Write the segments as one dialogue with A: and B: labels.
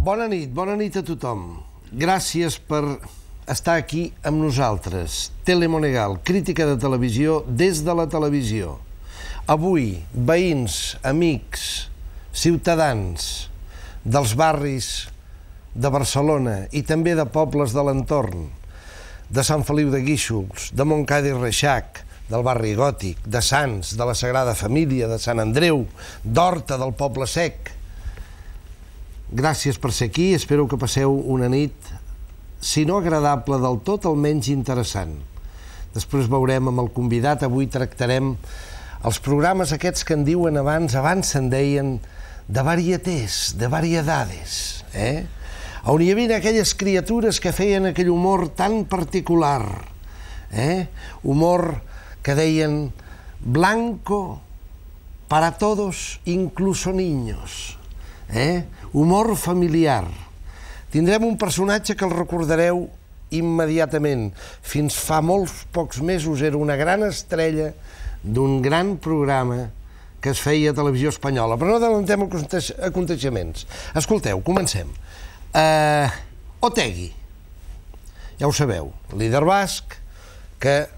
A: Bona nit a tothom. Gràcies per estar aquí amb nosaltres. Telemonegal, crítica de televisió des de la televisió. Avui, veïns, amics, ciutadans dels barris de Barcelona i també de pobles de l'entorn, de Sant Feliu de Guíxols, de Montcada i Reixac, del barri Gòtic, de Sants, de la Sagrada Família, de Sant Andreu, d'Horta, del Poble Sec. Gràcies per ser aquí, espero que passeu una nit, si no agradable del tot, almenys interessant. Després veurem amb el convidat, avui tractarem els programes aquests que en diuen abans se'n deien de varietés, de variedades, on hi havia aquelles criatures que feien aquell humor tan particular, humor que deien blanco para todos, incluso niños, humor familiar. Tindrem un personatge que el recordareu immediatament. Fins fa molts pocs mesos era una gran estrella d'un gran programa que es feia a Televisió Espanyola. Però no adellantem aconteixements. Escolteu, comencem. Otegi, ja ho sabeu, líder basc, que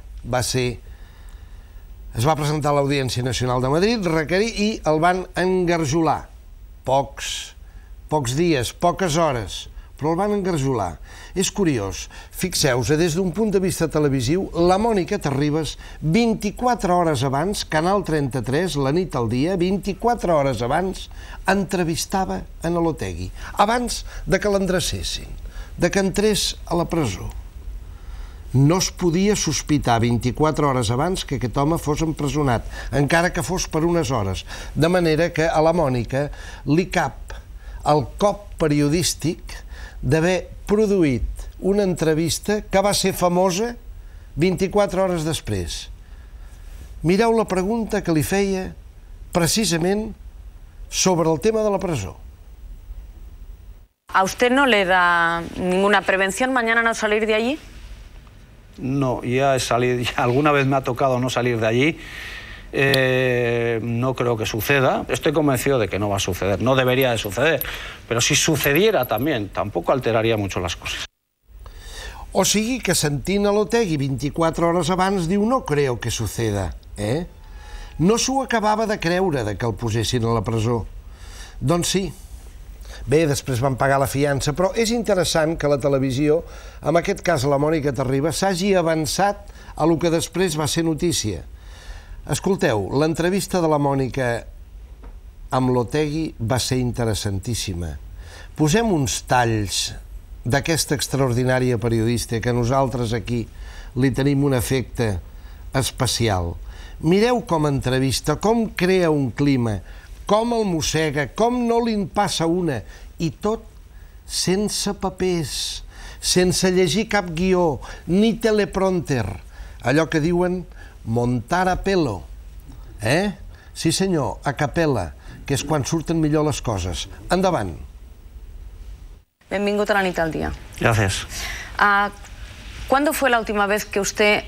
A: es va presentar a l'Audiència Nacional de Madrid, requerir, i el van engarjolar. Pocs dies, poques hores, però el van engarjolar. És curiós, fixeu-vos, des d'un punt de vista televisiu, la Mònica Terribas, 24 hores abans, Canal 33, la nit al dia, 24 hores abans, entrevistava en l'Otegi, abans de que l'endrecessin, de que entrés a la presó. No es podia sospitar 24 hores abans que aquest home fos empresonat, encara que fos per unes hores. De manera que a la Mònica li cap el cop periodístic d'haver produït una entrevista que va ser famosa 24 hores després. Mireu la pregunta que li feia precisament sobre el tema de la presó.
B: ¿A usted no le da ninguna prevención mañana no salir de allí?
C: No, ya he salido, alguna vez me ha tocado no salir de allí. No creo que suceda. Estoy convencido de que no va a suceder. No debería de suceder. Pero si sucediera también, tampoco alteraría mucho las cosas.
A: O sigui que sentint a l'Otegi 24 hores abans diu no creo que suceda. No s'ho acabava de creure de que el posessin a la presó. Doncs sí. Bé, després van pagar la fiança, però és interessant que la televisió, en aquest cas la Mònica Terribas, s'hagi avançat a lo que després va ser notícia. Escolteu, l'entrevista de la Mònica amb l'Otegi va ser interessantíssima. Posem uns talls d'aquesta extraordinària periodista que nosaltres aquí li tenim un efecte especial. Mireu com entrevista, com crea un clima, com el mossega, com no li'n passa una, i tot sense papers, sense llegir cap guió, ni teleprompter, allò que diuen montar a pelo, Sí senyor, a capella, que és quan surten millor les coses. Endavant.
B: Benvingut a la nit al día.
C: Gracias.
B: ¿Cuándo fue la última vez que usted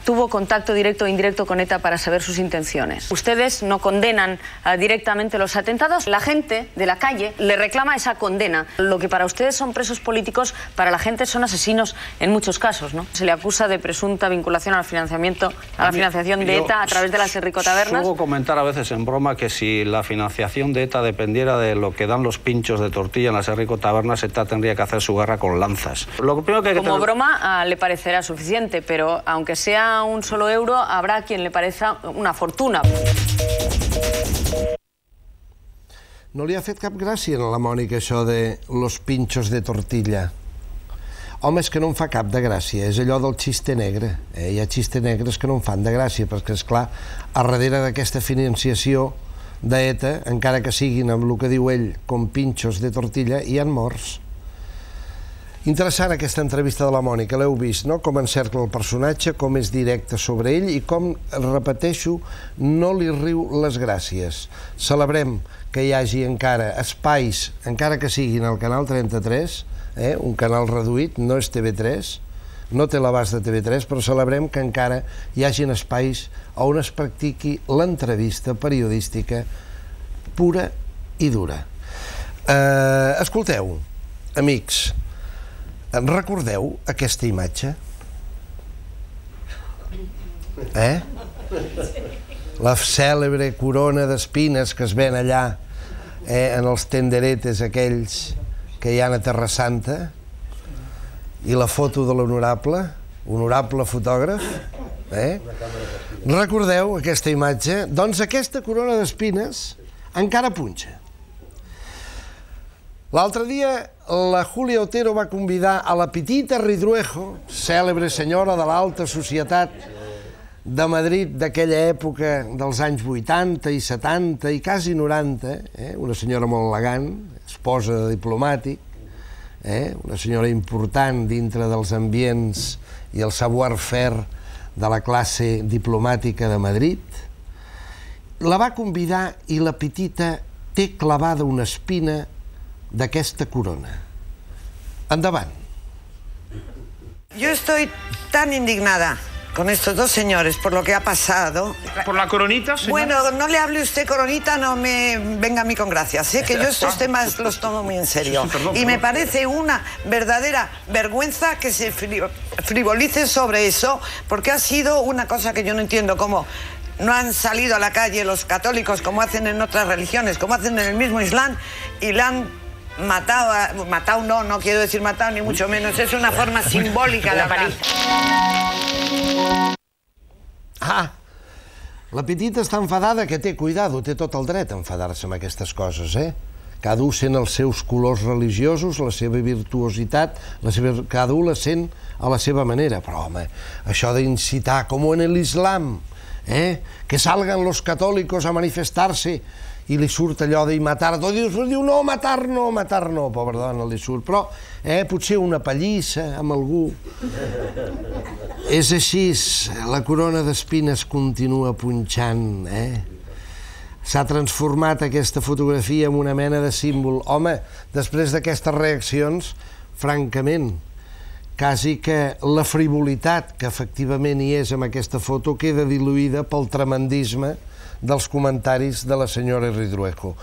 B: tuvo contacto directo o indirecto con ETA para saber sus intenciones? Ustedes no condenan directamente los atentados. La gente de la calle le reclama esa condena. Lo que para ustedes son presos políticos, para la gente son asesinos en muchos casos, ¿no? Se le acusa de presunta vinculación al financiamiento, a la financiación de ETA a través de las Enrico-tabernas.
C: Suelo comentar a veces en broma que si la financiación de ETA dependiera de lo que dan los pinchos de tortilla en las Enrico-tabernas, ETA tendría que hacer su guerra con lanzas. Lo primero que hay que
B: Como broma le parecerá suficiente, pero aunque sea un solo euro, habrá quien le parezca una fortuna.
A: No li ha fet cap gràcia a la Mònica això de los pinchos de tortilla. Home, és que no em fa cap de gràcia, és allò del xiste negre. Hi ha xiste negres que no em fan de gràcia, perquè, esclar, a darrere d'aquesta financiació d'ETA, encara que siguin amb el que diu ell com pinchos de tortilla, hi ha morts. Interessant aquesta entrevista de la Mònica, l'heu vist, no? Com encercla el personatge, com és directe sobre ell i com, repeteixo, no li riu les gràcies. Celebrem que hi hagi encara espais, encara que siguin al Canal 33, un canal reduït, no és TV3, no té l'abast de TV3, però celebrem que encara hi hagin espais on es practiqui l'entrevista periodística pura i dura. Escolteu, amics, recordeu aquesta imatge? La cèlebre corona d'espines que es ven allà en els tenderetes aquells que hi ha a Terra Santa, i la foto de l'honorable fotògraf, recordeu aquesta imatge? Doncs aquesta corona d'espines encara punxa. L'altre dia la Julia Otero va convidar a la Petita Ridruejo, cèlebre senyora de l'alta societat de Madrid d'aquella època dels anys 80 i 70 i quasi 90, una senyora molt elegant, esposa de diplomàtic, una senyora important dintre dels ambients i el savoir-faire de la classe diplomàtica de Madrid. La va convidar i la Petita té clavada una espina d'aquesta corona. Endavant.
D: Yo estoy tan indignada con estos dos señores por lo que ha pasado.
E: ¿Por la coronita, señora?
D: Bueno, no le hable usted coronita, no me venga a mí con gracias, que yo estos temas los tomo muy en serio. Y me parece una verdadera vergüenza que se frivolice sobre eso, porque ha sido una cosa que yo no entiendo, cómo no han salido a la calle los católicos como hacen en otras religiones, como hacen en el mismo Islam, y la han matado, no quiero decir matado ni mucho menos, es una forma simbólica de hablar.
A: La Petita està enfadada, que té, cuidado, té tot el dret a enfadar-se amb aquestes coses, Cada un sent els seus colors religiosos, la seva virtuositat, cada un la sent a la seva manera, però home, això d'incitar, com en l'Islam, que salgan los católicos a manifestar-se, i li surt allò de matar, diu no, matar no, pobra dona, li surt, però potser una pallissa amb algú. És així, la corona d'espines continua punxant, S'ha transformat aquesta fotografia en una mena de símbol. Home, després d'aquestes reaccions, francament, quasi que la frivolitat que efectivament hi és en aquesta foto queda diluïda pel tremendisme dels comentaris de la senyora Ridruejo.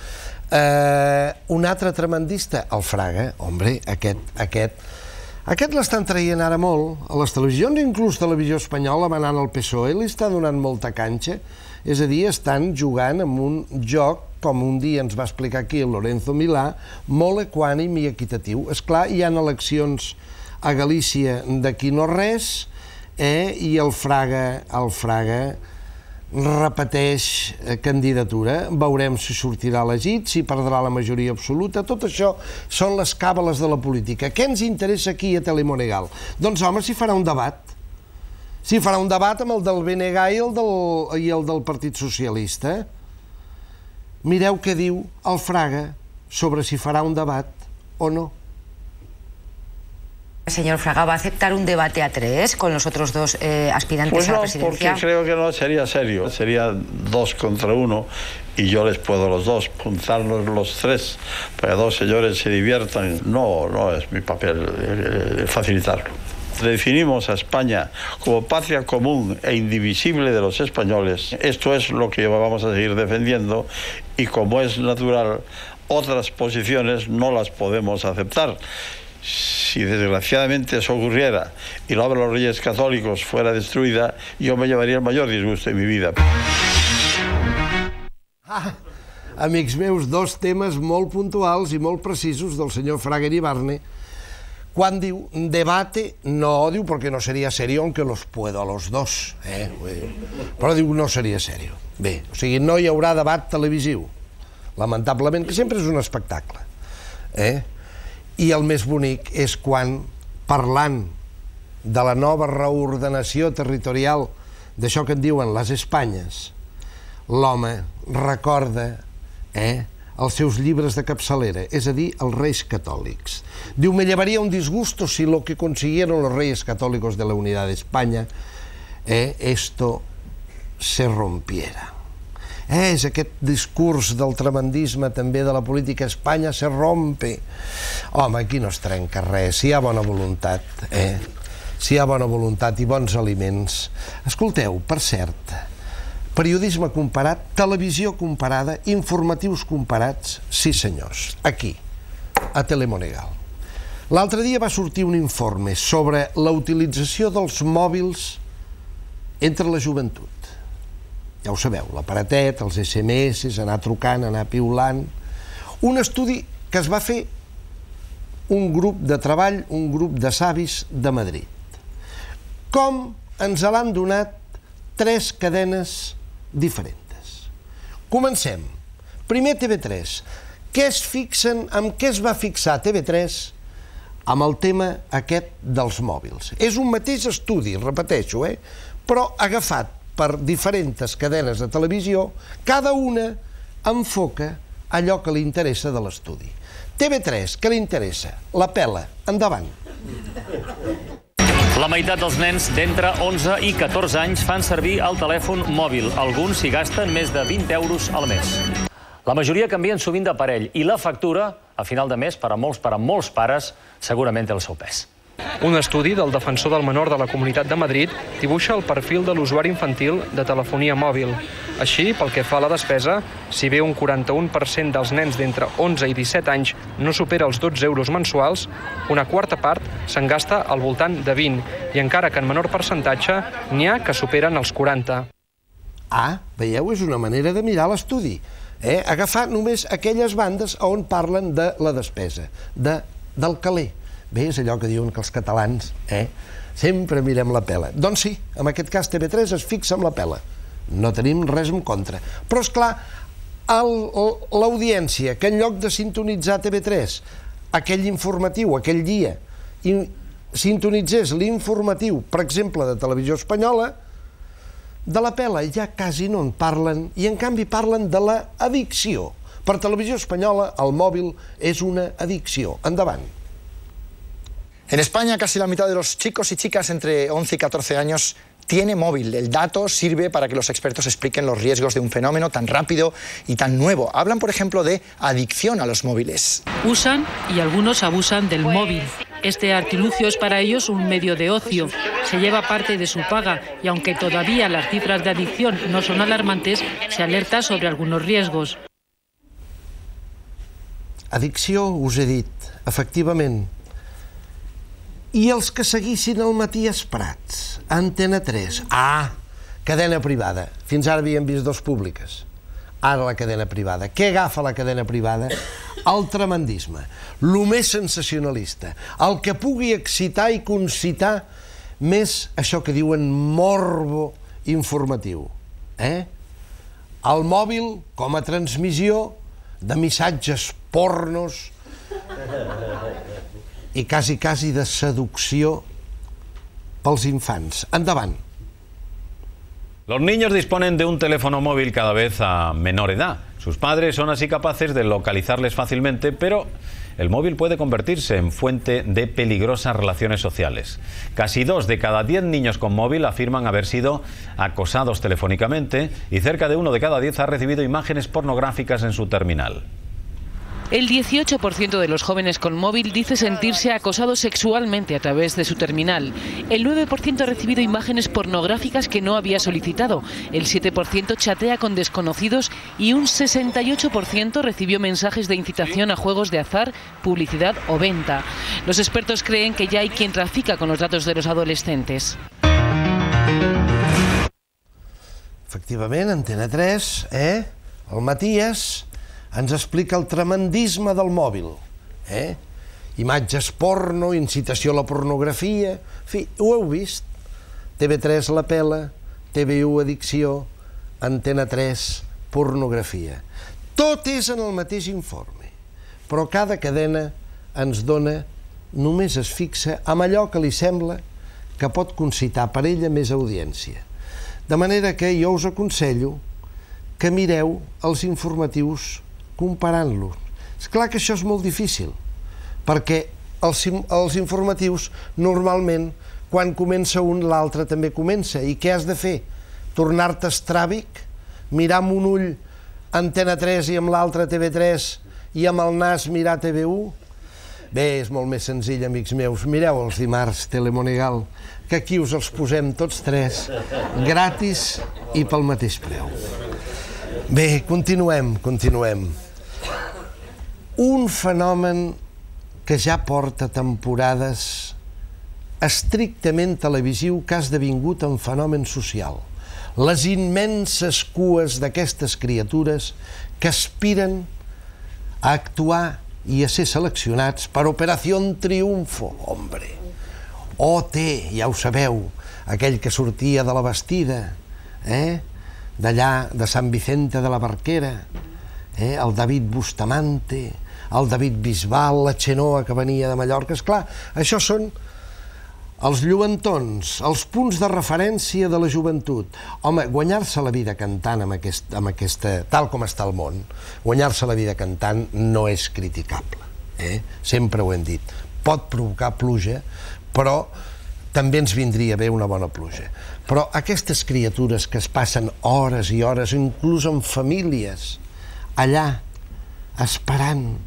A: Un altre tremendista, el Fraga, hombre, aquest l'estan traient ara molt a les televisions, inclús Televisió Espanyola, manant el PSOE, li està donant molta canxa, és a dir, estan jugant amb un joc, com un dia ens va explicar aquí el Lorenzo Milà, molt equànim i equitatiu. Esclar, hi ha eleccions a Galícia d'aquí no res, i el Fraga repeteix candidatura, veurem si sortirà elegit, si perdrà la majoria absoluta. Tot això són les càbales de la política. Què ens interessa aquí a Telemonegal? Doncs home, s'hi farà un debat. S'hi farà un debat amb el del BNG i el del Partit Socialista. Mireu què diu el Fraga sobre si farà un debat o no.
F: Señor Fraga, ¿va a aceptar un debate a tres con los otros dos aspirantes a la presidencia?
G: Pues no, porque creo que no sería serio. Sería 2 contra 1 y yo les puedo los dos, juntarnos los tres para que dos señores se diviertan. No es mi papel facilitarlo. Definimos a España como patria común e indivisible de los españoles. Esto es lo que vamos a seguir defendiendo y, como es natural, otras posiciones no las podemos aceptar. Si desgraciadamente eso ocurriera y la obra de los Reyes Católicos fuera destruida, yo me llevaría el mayor disgusto de mi vida.
A: Amics meus, dos temes molt puntuals i molt precisos del senyor Fraga Iribarne. Quan diu debate, no diu perquè no seria serio, aunque los puedo a los dos. Però diu no seria serio. Bé, o sigui, no hi haurà debat televisiu, lamentablement, que sempre és un espectacle. I el més bonic és quan, parlant de la nova reordenació territorial, d'això que en diuen les Espanyes, l'home recorda els seus llibres de capçalera, és a dir, els Reis Catòlics. Diu, me llevaría un disgusto si lo que consiguieron los Reyes Católicos de la Unidad de España esto se rompiera. És aquest discurs del tremendisme també de la política a Espanya se rompe. Home, aquí no es trenca res, si hi ha bona voluntat, si hi ha bona voluntat i bons aliments. Escolteu, per cert, periodisme comparat, televisió comparada, informatius comparats, sí senyors, aquí, a Telemonegal. L'altre dia va sortir un informe sobre la utilització dels mòbils entre la joventut. Ja ho sabeu, l'aparatet, els SMS, anar trucant, anar piulant. Un estudi que es va fer un grup de treball, un grup de savis de Madrid. Com ens l'han donat 3 cadenes diferents. Comencem. Primer, TV3. Amb què es va fixar TV3? Amb el tema aquest dels mòbils. És un mateix estudi, repeteixo, però agafat per diferents cadenes de televisió, cada una enfoca allò que li interessa de l'estudi. TV3, què li interessa? La pela. Endavant.
E: La meitat dels nens d'entre 11 i 14 anys fan servir el telèfon mòbil. Alguns s'hi gasten més de 20 euros al mes. La majoria canvien sovint d'aparell i la factura, a final de mes, per a molts pares, segurament té el seu pes.
H: Un estudi del defensor del menor de la Comunitat de Madrid dibuixa el perfil de l'usuari infantil de telefonia mòbil. Així, pel que fa a la despesa, si bé un 41% dels nens d'entre 11 i 17 anys no supera els 12 euros mensuals, una quarta part se'n gasta al voltant de 20, i encara que en menor percentatge n'hi ha que superen els 40.
A: Veieu? És una manera de mirar l'estudi. Agafar només aquelles bandes on parlen de la despesa, del caler. Bé, és allò que diuen que els catalans sempre mirem la pela. Doncs sí, en aquest cas TV3 es fixa en la pela. No tenim res en contra. Però, esclar, l'audiència, que en lloc de sintonitzar TV3, aquell informatiu, aquell dia, sintonitzés l'informatiu, per exemple, de Televisió Espanyola, de la pela ja quasi no en parlen, i en canvi parlen de l'addicció. Per Televisió Espanyola, el mòbil és una addicció. Endavant.
I: En España, casi la mitad de los chicos y chicas entre 11 y 14 años tiene móvil. El dato sirve para que los expertos expliquen los riesgos de un fenómeno tan rápido y tan nuevo. Hablan, por ejemplo, de adicción a los móviles.
J: Usan y algunos abusan del móvil. Este artilugio es para ellos un medio de ocio. Se lleva parte de su paga y aunque todavía las cifras de adicción no son alarmantes, se alerta sobre algunos riesgos.
A: Addicció, us he dit, efectivament. I els que seguissin el Matías Prats, Antena 3, cadena privada. Fins ara havíem vist 2 públiques. Ara la cadena privada. Què agafa la cadena privada? El tremendisme, el més sensacionalista, el que pugui excitar i concitar més això que diuen morbo informatiu. El mòbil com a transmissió de missatges pornos i quasi de seducció pels infants. Endavant.
K: Los niños disponen de un teléfono móvil cada vez a menor edad. Sus padres son así capaces de localizarles fácilmente, pero el móvil puede convertirse en fuente de peligrosas relaciones sociales. Casi 2 de cada 10 niños con móvil afirman haber sido acosados telefónicamente y cerca de 1 de cada 10 ha recibido imágenes pornográficas en su terminal.
J: El 18% de los jóvenes con móvil dice sentirse acosado sexualmente a través de su terminal. El 9% ha recibido imágenes pornográficas que no había solicitado. El 7% chatea con desconocidos y un 68% recibió mensajes de incitación a juegos de azar, publicidad o venta. Los expertos creen que ya hay quien trafica con los datos de los adolescentes.
A: Efectivament, Antena 3, el Matías ens explica el tremendisme del mòbil. Imatges porno, incitació a la pornografia... En fi, ho heu vist? TV3 la pela, TV1 addicció, Antena 3 pornografia. Tot és en el mateix informe, però cada cadena ens dona, només es fixa amb allò que li sembla que pot concitar per ella més audiència. De manera que jo us aconsello que mireu els informatius comparant-los. És clar que això és molt difícil, perquè els informatius normalment quan comença un l'altre també comença. I què has de fer? Tornar-te estràbic? Mirar amb un ull Antena 3 i amb l'altre TV3 i amb el nas mirar TV1? Bé, és molt més senzill, amics meus. Mireu els dimarts Telemonegal, que aquí us els posem tots 3 gratis i pel mateix preu. Bé, continuem. Un fenomen que ja porta temporades estrictament televisiu que ha esdevingut un fenomen social. Les immenses cues d'aquestes criatures que aspiren a actuar i a ser seleccionats per Operació Triunfo, hombre. OT, ja ho sabeu, aquell que sortia de la Bastida, d'allà, de Sant Vicente de la Barquera, el David Bustamante, el David Bisbal, la Xenoa que venia de Mallorca. Esclar, això són els lluentons, els punts de referència de la joventut. Home, guanyar-se la vida cantant amb aquesta, tal com està el món, guanyar-se la vida cantant no és criticable. Sempre ho hem dit. Pot provocar pluja, però també ens vindria bé una bona pluja. Però aquestes criatures que es passen hores i hores, inclús en famílies, allà, esperant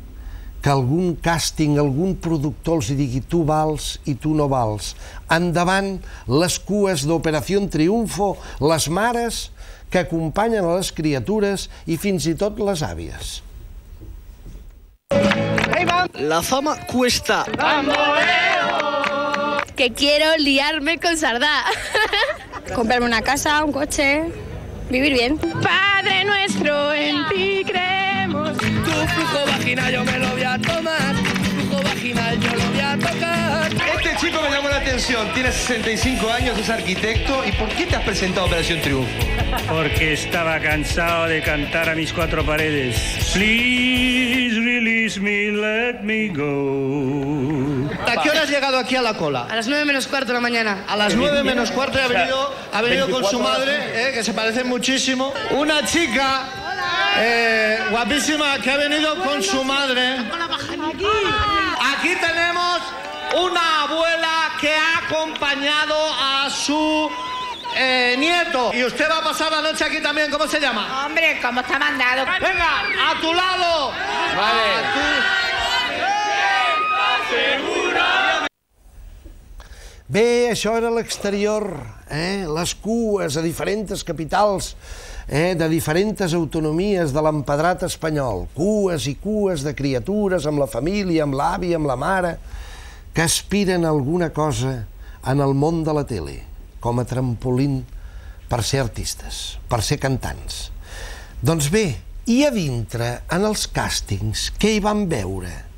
A: que algun càsting, algun productor els digui tu vals i tu no vals. Endavant les cues d'Operació Triunfo, les mares que acompanyen a les criatures i fins i tot les àvies.
L: La fama cuesta.
M: Que quiero liarme con Sardá. Comprarme una casa, un coche, vivir bien. Padre nuestro, en ti creemos.
L: Tu flujo vaginal yo me lo voy a tomar. Tu flujo vaginal yo lo voy a tocar.
N: Este chico me llamó la atención. Tiene 65 años, es arquitecto. ¿Y por qué te has presentado a Operación Triunfo?
O: Porque estaba cansado de cantar a mis cuatro paredes. Please release me, let me go.
N: ¿A qué hora has llegado aquí a la cola?
L: A las 9 menos cuarto de la mañana.
N: A las 9 menos cuarto ha venido con su madre, que se parecen muchísimo. Una chica guapísima que ha venido con su madre. Aquí tenemos una abuela que ha acompañado a su nieto. Y usted va a pasar la noche aquí también. ¿Cómo se llama?
M: Hombre, ¿cómo está mandado?
N: Venga, a tu lado. Vale.
A: Bé, això era l'exterior, les cues a diferents capitals, de diferents autonomies de l'empedrat espanyol. Cues i cues de criatures amb la família, amb l'avi, amb la mare, que aspiren a alguna cosa en el món de la tele, com a trampolín per ser artistes, per ser cantants. Doncs bé, i a dintre, en els càstings, què hi van veure?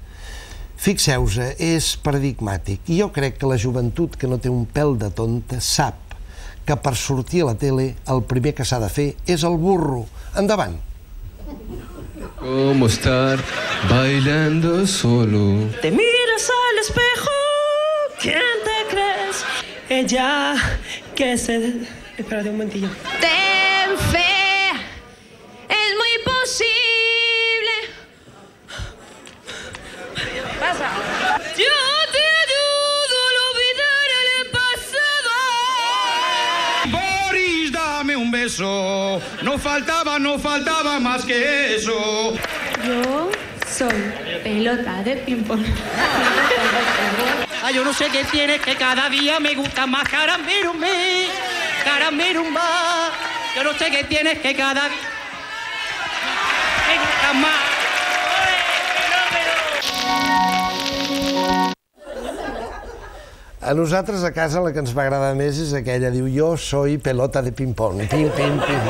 A: Fixeu-vos, és paradigmàtic. I jo crec que la joventut que no té un pèl de tonta sap que per sortir a la tele el primer que s'ha de fer és el burro. Endavant.
P: ¿Cómo estar bailando solo?
Q: Te miras al espejo, ¿quién te crees? Ella que se... Espérate un momentillo.
M: Ten fe, es muy posible. Pasa.
Q: Yo te ayudo a olvidar el pasado.
R: Boris, dame un beso. No faltaba más que eso.
M: Yo soy pelota de ping-pong.
Q: Yo no sé qué tiene, que cada día me gusta más Caramerumba. Yo no sé qué tienes, que cada día me gusta más.
A: A nosaltres a casa la que ens va agradar més és aquella, diu, jo soy pelota de ping-pong. Pim, pim, pim.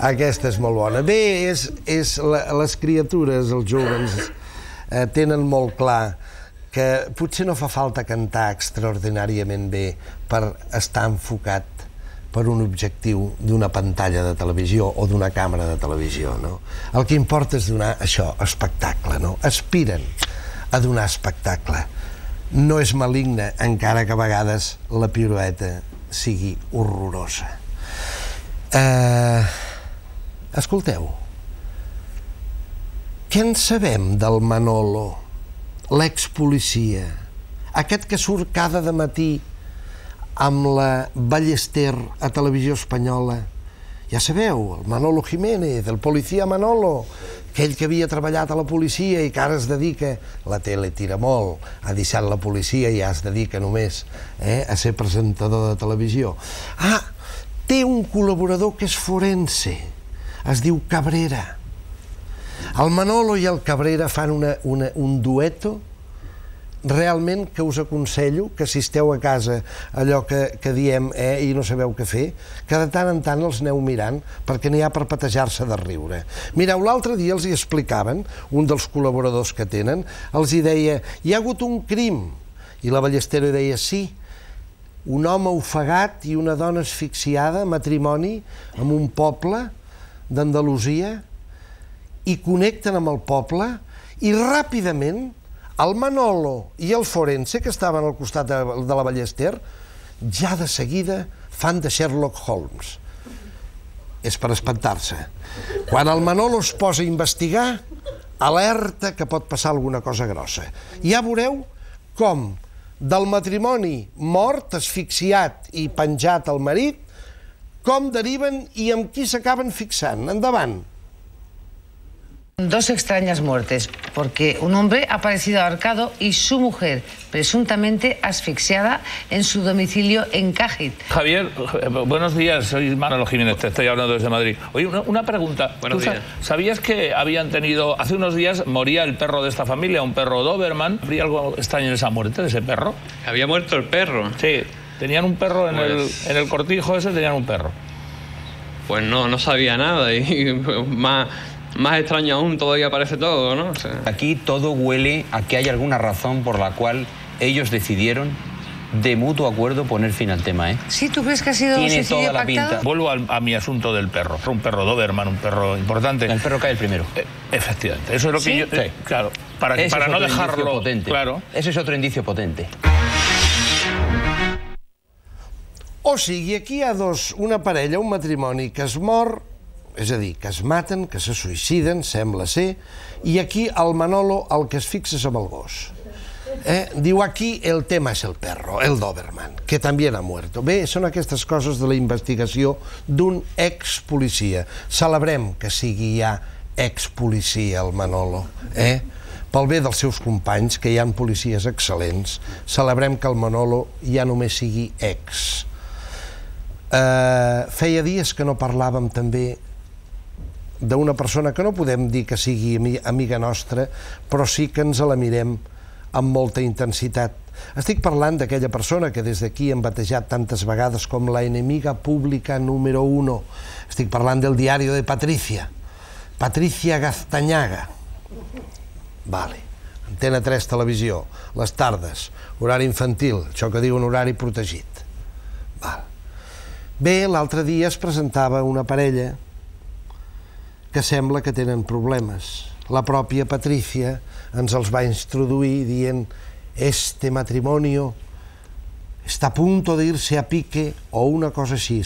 A: Aquesta és molt bona. Bé, les criatures, els jóvens, tenen molt clar que potser no fa falta cantar extraordinàriament bé per estar enfocat per un objectiu d'una pantalla de televisió o d'una càmera de televisió, no? El que importa és donar això, espectacle, no? Aspiren a donar espectacle. No és maligne, encara que a vegades la pirueta sigui horrorosa. Escolteu, què en sabem del Manolo, l'expolicia, aquest que surt cada dematí amb la Ballester a Televisió Espanyola? Ja sabeu, el Manolo Jiménez, el policia Manolo, aquell que havia treballat a la policia i que ara es dedica, la tele tira molt, ha deixat la policia i ja es dedica només a ser presentador de televisió. Ah, té un col·laborador que és forense, es diu Cabrera. El Manolo i el Cabrera fan un dueto realment que us aconsello que si esteu a casa, allò que diem i no sabeu què fer, que de tant en tant els aneu mirant perquè n'hi ha per petejar-se de riure. Mireu, l'altre dia els hi explicaven, un dels col·laboradors que tenen, els hi deia, hi ha hagut un crim, i la Ballestero deia, sí, un home ofegat i una dona asfixiada, matrimoni, en un poble d'Andalusia, i connecten amb el poble, i ràpidament el Manolo i el forense, que estaven al costat de la Ballester, ja de seguida fan de Sherlock Holmes. És per espantar-se. Quan el Manolo es posa a investigar, alerta que pot passar alguna cosa grossa. Ja veureu com del matrimoni mort, asfixiat i penjat al marit, com deriven i amb qui s'acaben fixant. Endavant.
F: Dos extrañas muertes, porque un hombre ha aparecido ahorcado y su mujer, presuntamente asfixiada en su domicilio en Cádiz.
S: Javier, buenos días, soy Manolo Jiménez, te estoy hablando desde Madrid. Oye, una pregunta.
T: Buenos días.
S: ¿Sabías que habían tenido, hace unos días moría el perro de esta familia, un perro Doberman? ¿Habría algo extraño en esa muerte de ese perro?
T: ¿Había muerto el perro?
S: Sí, tenían un perro en el cortijo ese, tenían un perro.
T: Pues no sabía nada y más extraño aún, todavía parece todo, ¿no? O sea...
U: Aquí todo huele a que hay alguna razón por la cual ellos decidieron de mutuo acuerdo poner fin al tema, ¿eh?
F: Sí, ¿tú crees que ha sido
U: Tiene
F: suicidio
U: toda la
F: pactado?
U: pinta.
S: Vuelvo a mi asunto del perro. Un perro Doberman, un perro importante.
U: El perro cae el primero.
S: Efectivamente. Eso es lo que
U: ¿Sí?
S: yo...
U: Sí.
S: Claro, para no dejarlo...
U: Potente.
S: Claro.
U: Ese es otro indicio potente.
A: O sigui, aquí hi ha una parella, un matrimoni que es mor, és a dir, que es maten, que se suïciden, sembla ser, i aquí el Manolo el que es fixa és amb el gos. Diu, aquí el tema és el perro, el Doberman, que també ha muerto. Bé, són aquestes coses de la investigació d'un ex-policia. Celebrem que sigui ja ex-policia el Manolo, pel bé dels seus companys, que hi ha policies excel·lents. Celebrem que el Manolo ja només sigui ex. Feia dies que no parlàvem també d'una persona que no podem dir que sigui amiga nostra, però sí que ens la mirem amb molta intensitat. Estic parlant d'aquella persona que des d'aquí hem batejat tantes vegades com la enemiga pública número 1. Estic parlant del diario de Patricia. Patricia Gaztañaga. Vale. Antena 3 Televisió, les tardes, horari infantil, això que diu un horari protegit. Val. Bé, l'altre dia es presentava una parella que sembla que tenen problemes. La pròpia Patricia ens els va introduir dient «Este matrimonio está a punto de irse a pique» o una cosa així.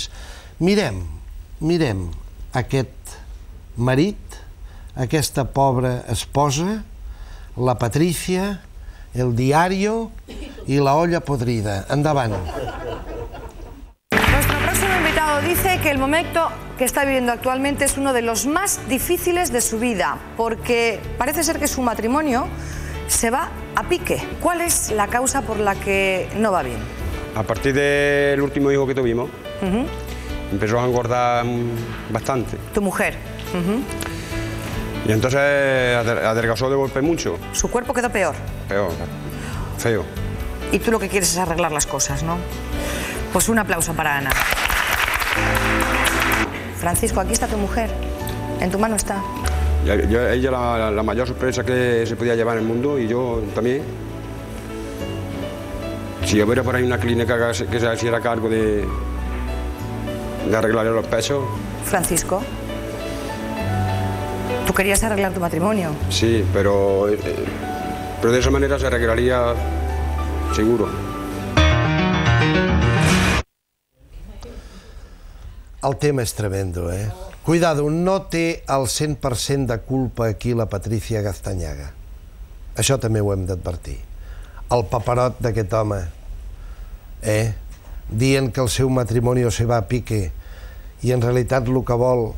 A: Mirem aquest marit, aquesta pobra esposa, la Patricia, el diario i la olla podrida. Endavant.
V: Nuestro próximo invitado dice que el momento que está viviendo actualmente es uno de los más difíciles de su vida, porque parece ser que su matrimonio se va a pique. ¿Cuál es la causa por la que no va bien?
W: A partir del último hijo que tuvimos, empezó a engordar bastante.
V: ¿Tu mujer?
W: Y entonces adelgazó de golpe mucho.
V: ¿Su cuerpo quedó peor?
W: Peor, feo.
V: Y tú lo que quieres es arreglar las cosas, ¿no? Pues un aplauso para Ana. Francisco, aquí está tu mujer. En tu mano está.
W: Ella la mayor sorpresa que se podía llevar en el mundo y yo también. Si hubiera por ahí una clínica que se hiciera cargo de arreglarle los pesos.
V: Francisco, tú querías arreglar tu matrimonio.
W: Sí, pero de esa manera se arreglaría seguro.
A: El tema és tremendo, Cuidado, no té el 100% de culpa aquí la Patricia Gaztañaga. Això també ho hem d'advertir. El paperot d'aquest home, dient que el seu matrimoni se va a pique i en realitat el que vol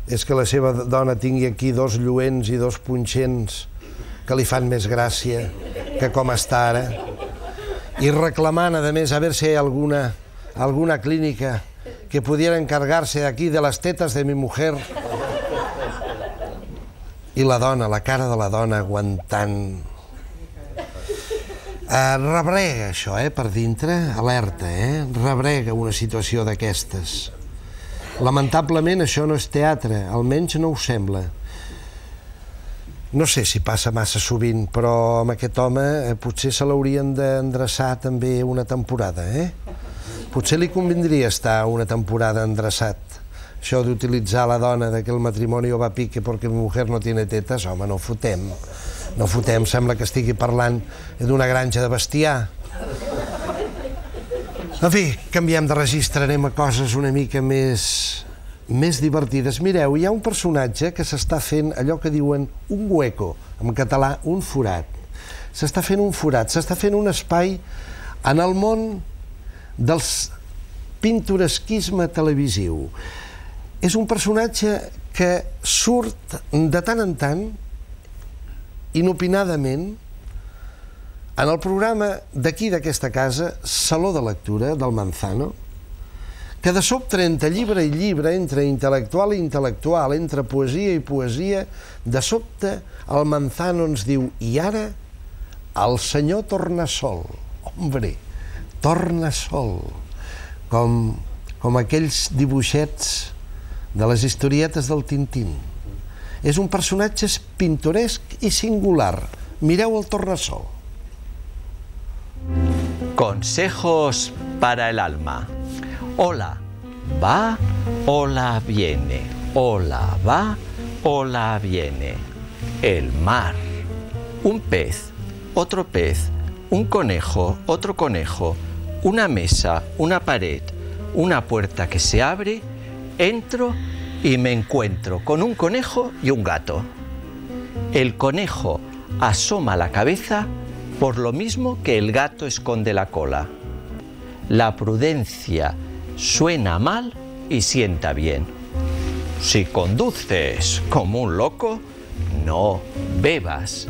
A: és que la seva dona tingui aquí dos lluents i dos punxents que li fan més gràcia que com està ara, i reclamant, a més, a veure si hi ha alguna clínica que pudiera encargarse aquí de las tetas de mi mujer. I la dona, la cara de la dona aguantant... Rebrega això, per dintre, alerta, rebrega una situació d'aquestes. Lamentablement això no és teatre, almenys no ho sembla. No sé si passa massa sovint, però amb aquest home potser se l'haurien d'endreçar també una temporada, Potser li convindria estar una temporada endreçat. Això d'utilitzar la dona de que el matrimoni va a pique perquè mi mujer no tiene tetas, home, no fotem. No fotem, sembla que estigui parlant d'una granja de bestiar. En fi, canviem de registre, anem a coses una mica més divertides. Mireu, hi ha un personatge que s'està fent allò que diuen un hueco, en català un forat. S'està fent un forat, s'està fent un espai en el món del pintoresquisme televisiu. És un personatge que surt de tant en tant, inopinadament, en el programa d'aquí d'aquesta casa, Saló de Lectura, del Manzano, que de sobte entre llibre i llibre, entre intel·lectual i intel·lectual, entre poesia i poesia, de sobte el Manzano ens diu: i ara el senyor Tornasol. Hombre, Tornasol, com aquells dibuixets de les historietes del Tintín. És un personatge pintoresc i singular. Mireu el Tornasol.
B: Consejos para el alma. Hola, va, hola, viene. Hola, va, hola, viene. El mar. Un pez, otro pez, un conejo, otro conejo, una mesa, una pared, una puerta que se abre. Entro y me encuentro con un conejo y un gato. El conejo asoma la cabeza por lo mismo que el gato esconde la cola. La prudencia suena mal y sienta bien. Si conduces como un loco, no bebas.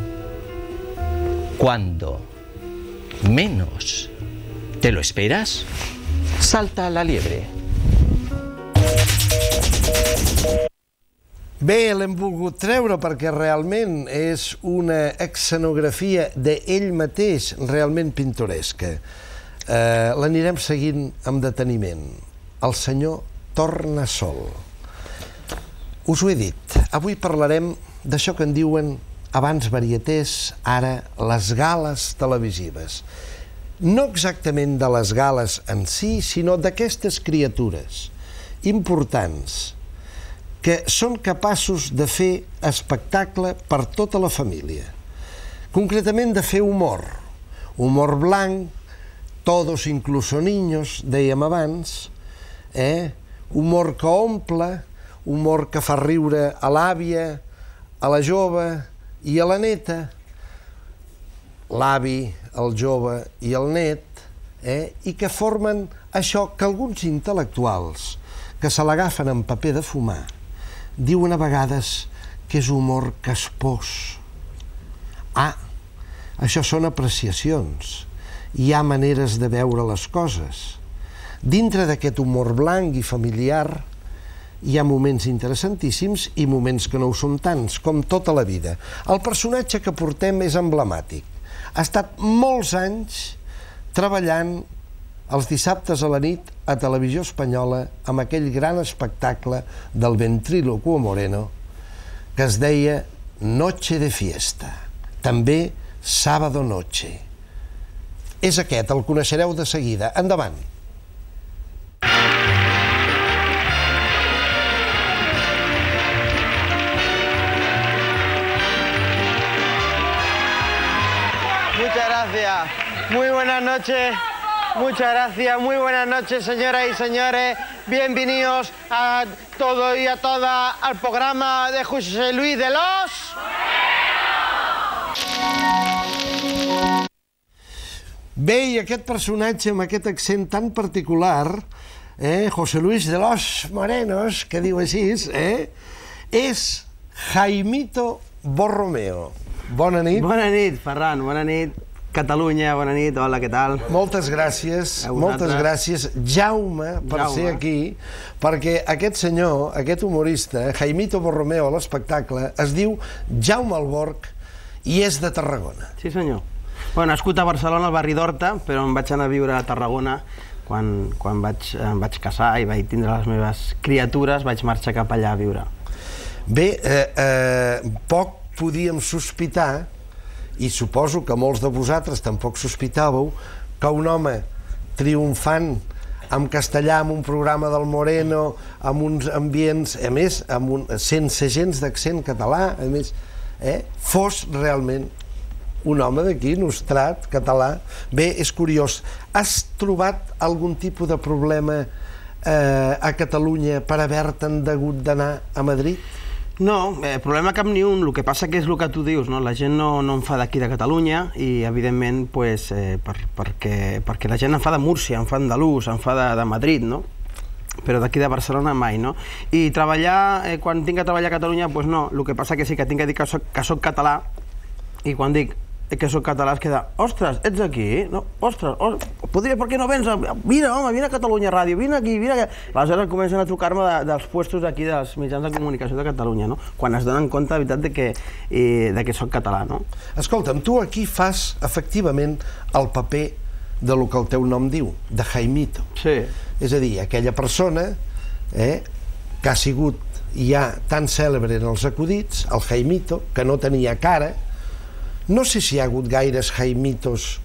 B: Cuando menos te lo esperas, salta la liebre.
A: Bé, l'hem volgut treure perquè realment és una escenografia d'ell mateix realment pintoresca. L'anirem seguint amb deteniment. El senyor Tornasol. Us ho he dit, avui parlarem d'això que en diuen abans varietés, ara les gales televisives. No exactament de les gales en si, sinó d'aquestes criatures importants que són capaços de fer espectacle per tota la família. Concretament de fer humor. Humor blanc, todos incluso niños, dèiem abans, humor que omple, humor que fa riure a l'àvia, a la jove i a la neta, l'avi, el jove i el net, i que formen això que alguns intel·lectuals que se l'agafen en paper de fumar diuen a vegades que és humor caspós. Això són apreciacions. Hi ha maneres de veure les coses. Dintre d'aquest humor blanc i familiar hi ha moments interessantíssims i moments que no ho són tants, com tota la vida. El personatge que portem és emblemàtic. Ha estat molts anys treballant els dissabtes a la nit a Televisió Espanyola amb aquell gran espectacle del ventrílocuo Moreno que es deia Noche de Fiesta, també Sábado Noche. És aquest, el coneixereu de seguida. Endavant.
C: Muchas gracias. Muy buenas noches. Muchas gracias, muy buenas noches, señoras y señores. Bienvenidos a todos y a todas al programa de José Luis de los...
A: Bé, i aquest personatge amb aquest accent tan particular, José Luis de los Morenos, que diu així, és Jaimito Borromeo. Bona nit.
C: Bona nit, Ferran, bona nit.
D: Catalunya, bona nit, hola, què tal?
A: Moltes gràcies, Jaume, per ser aquí, perquè aquest senyor, aquest humorista, Jaimito Borromeo a l'espectacle, es diu Jaume Alborch i és de Tarragona.
D: Sí, senyor. Bueno, nascut a Barcelona, al barri d'Horta, però em vaig anar a viure a Tarragona quan em vaig casar i vaig tindre les meves criatures, vaig marxar cap allà a viure.
A: Bé, poc podíem sospitar, i suposo que molts de vosaltres tampoc sospitàveu, que un home triomfant en castellà, amb un programa del Moreno, amb uns ambients, a més, sense gens d'accent català, a més, fos realment un home d'aquí, nostrat, català. Bé, és curiós. Has trobat algun tipus de problema a Catalunya per haver-te'n hagut d'anar a Madrid?
D: No, problema cap ni un. El que passa que és el que tu dius, la gent no en fa d'aquí de Catalunya i, evidentment, perquè la gent en fa de Múrcia, en fa d'andalús, en fa de Madrid, no? Però d'aquí de Barcelona mai, no? I treballar, quan tinc que treballar a Catalunya, doncs no. El que passa que sí que tinc que dir que soc català i quan dic que soc català es queda, ostres, ets aquí? No, ostres, per què no vens? Vine, home, vine a Catalunya Ràdio, vine aquí, vine aquí. Aleshores comencen a trucar-me dels puestos d'aquí, dels mitjans de comunicació de Catalunya, no? Quan es donen compte, de veritat, que soc català, no?
A: Escolta'm, tu aquí fas, efectivament, el paper de lo que el teu nom diu, de Jaimito.
D: Sí.
A: És a dir, aquella persona que ha sigut ja tan cèlebre en els acudits, el Jaimito, que no tenia cara. No sé si hi ha hagut gaires Jaimitos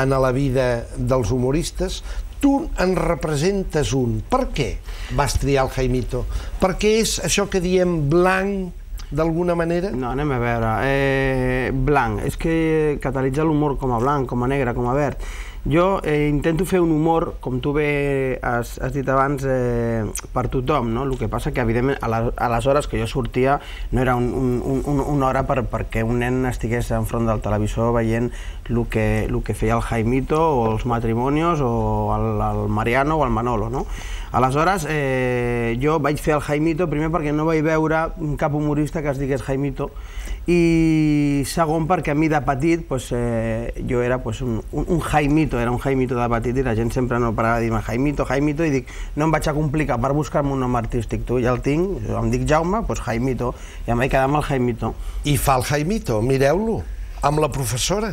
A: en la vida dels humoristes. Tu en representes un. Per què vas triar el Jaimito? Perquè és això que diem blanc, d'alguna manera?
D: No, anem a veure. Blanc. És que catalitzar l'humor com a blanc, com a negre, com a verd. Jo intento fer un humor, com tu bé has dit abans, per tothom, no? El que passa que, evidentment, a les hores que jo sortia no era una hora perquè un nen estigués enfront del televisor veient el que feia el Jaimito o els Matrimonios o el Mariano o el Manolo, no? Aleshores, jo vaig fer el Jaimito, primer perquè no vaig veure cap humorista que es digués Jaimito, i segon perquè a mi de petit jo era un Jaimito, era un Jaimito de petit i la gent sempre no parava de dir-me Jaimito, Jaimito, i dic, no em vaig a complicar per buscar-me un nom artístic, tu ja el tinc, em dic Jaume, doncs Jaimito, i em vaig quedar amb el Jaimito.
A: I fa el Jaimito, mireu-lo, amb la professora.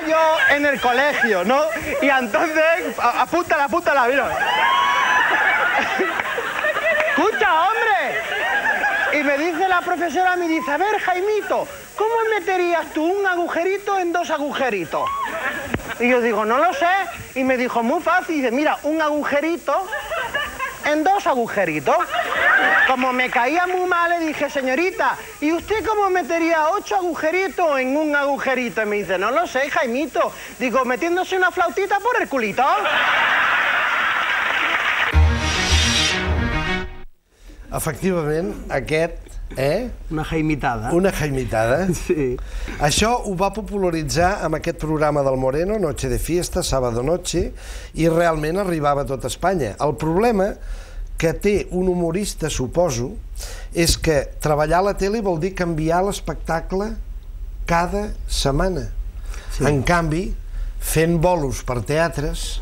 C: Yo en el colegio, ¿no? Y entonces, apúntala, mira. Escucha, hombre. Y me dice la profesora, me dice, a ver, Jaimito, ¿cómo meterías tú un agujerito en dos agujeritos? Y yo digo, no lo sé. Y me dijo, muy fácil. Y dice, mira, un agujerito en dos agujeritos. Como me caía muy mal, le dije, señorita, ¿y usted cómo metería 8 agujeritos en un agujerito? Y me dice, no lo sé, Jaimito. Digo, metiéndose una flautita por el culito.
A: Efectivament, aquest,
D: Una jaimitada.
A: Una jaimitada.
D: Sí.
A: Això ho va popularitzar amb aquest programa del Moreno, Noche de Fiesta, Sábado Noche, i realment arribava a tot Espanya. El problema que té un humorista, suposo, és que treballar a la tele vol dir canviar l'espectacle cada setmana. Sí. En canvi, fent bolos per teatres,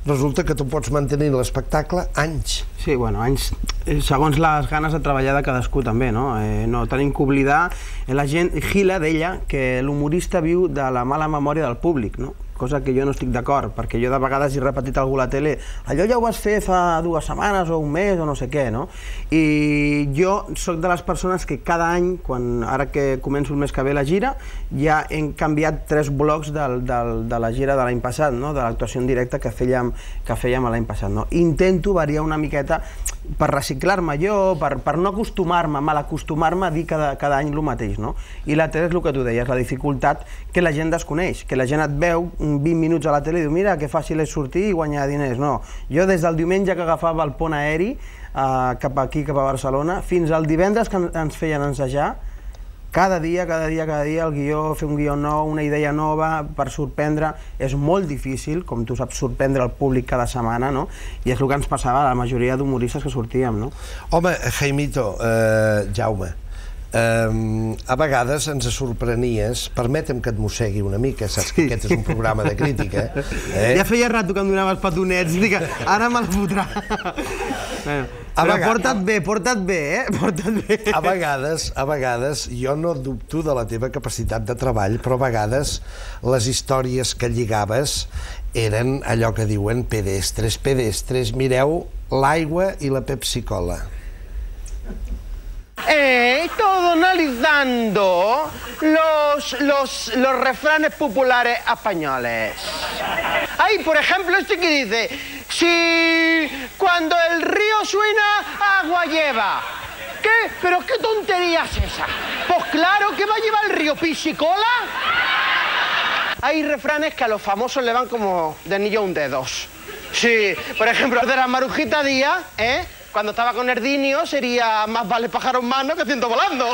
A: resulta que tu pots mantenir l'espectacle anys.
D: Sí, bueno, anys, segons les ganes de treballar de cadascú també, no? No tenim que oblidar, la gent, Gila deia que l'humorista viu de la mala memòria del públic, no? Cosa que jo no estic d'acord, perquè jo de vegades he repetit a algú a la tele, allò ja ho vas fer fa 2 setmanes o un mes o no sé què, no? I jo soc de les persones que cada any, ara que començo el mes que ve la gira, ja hem canviat 3 blocs de la gira de l'any passat, no? De l'actuació en directe que fèiem l'any passat, no? Intento variar una miqueta per reciclar-me jo, per no acostumar-me, mal acostumar-me a dir cada any el mateix, no? I la tele és el que tu deies, la dificultat que la gent desconeix, que la gent et veu 20 minuts a la tele i diu, mira, que fàcil és sortir i guanyar diners. No, jo des del diumenge que agafava el pont aeri cap aquí, cap a Barcelona, fins al divendres que ens feien ensejar, cada dia el guió, fer un guió nou, una idea nova per sorprendre, és molt difícil, com tu saps, sorprendre el públic cada setmana, no? I és el que ens passava a la majoria d'humoristes que sortíem, no?
A: Home, Jaimito, Jaume, a vegades ens sorprenies, permetem que et mossegui una mica, saps que aquest és un programa de crítica.
D: Ja feia rato que em donaves petonets, dic, ara me'l fotrà. Però porta't bé, porta't bé.
A: A vegades, jo no dubto de la teva capacitat de treball, però a vegades les històries que lligaves eren allò que diuen pedestres. Mireu l'aigua i la Pepsi-Cola.
C: He estado analizando los refranes populares españoles. Hay, por ejemplo, este que dice: si cuando el río suena, agua lleva. ¿Qué? ¿Pero qué tontería es esa? Pues claro que va a llevar el río Pepsi-Cola. Hay refranes que a los famosos le van como de anillo a un dedo. Sí, por ejemplo, de la Marujita Díaz, cuando estaba con Erdinio sería más vale pájaro en mano que ciento volando.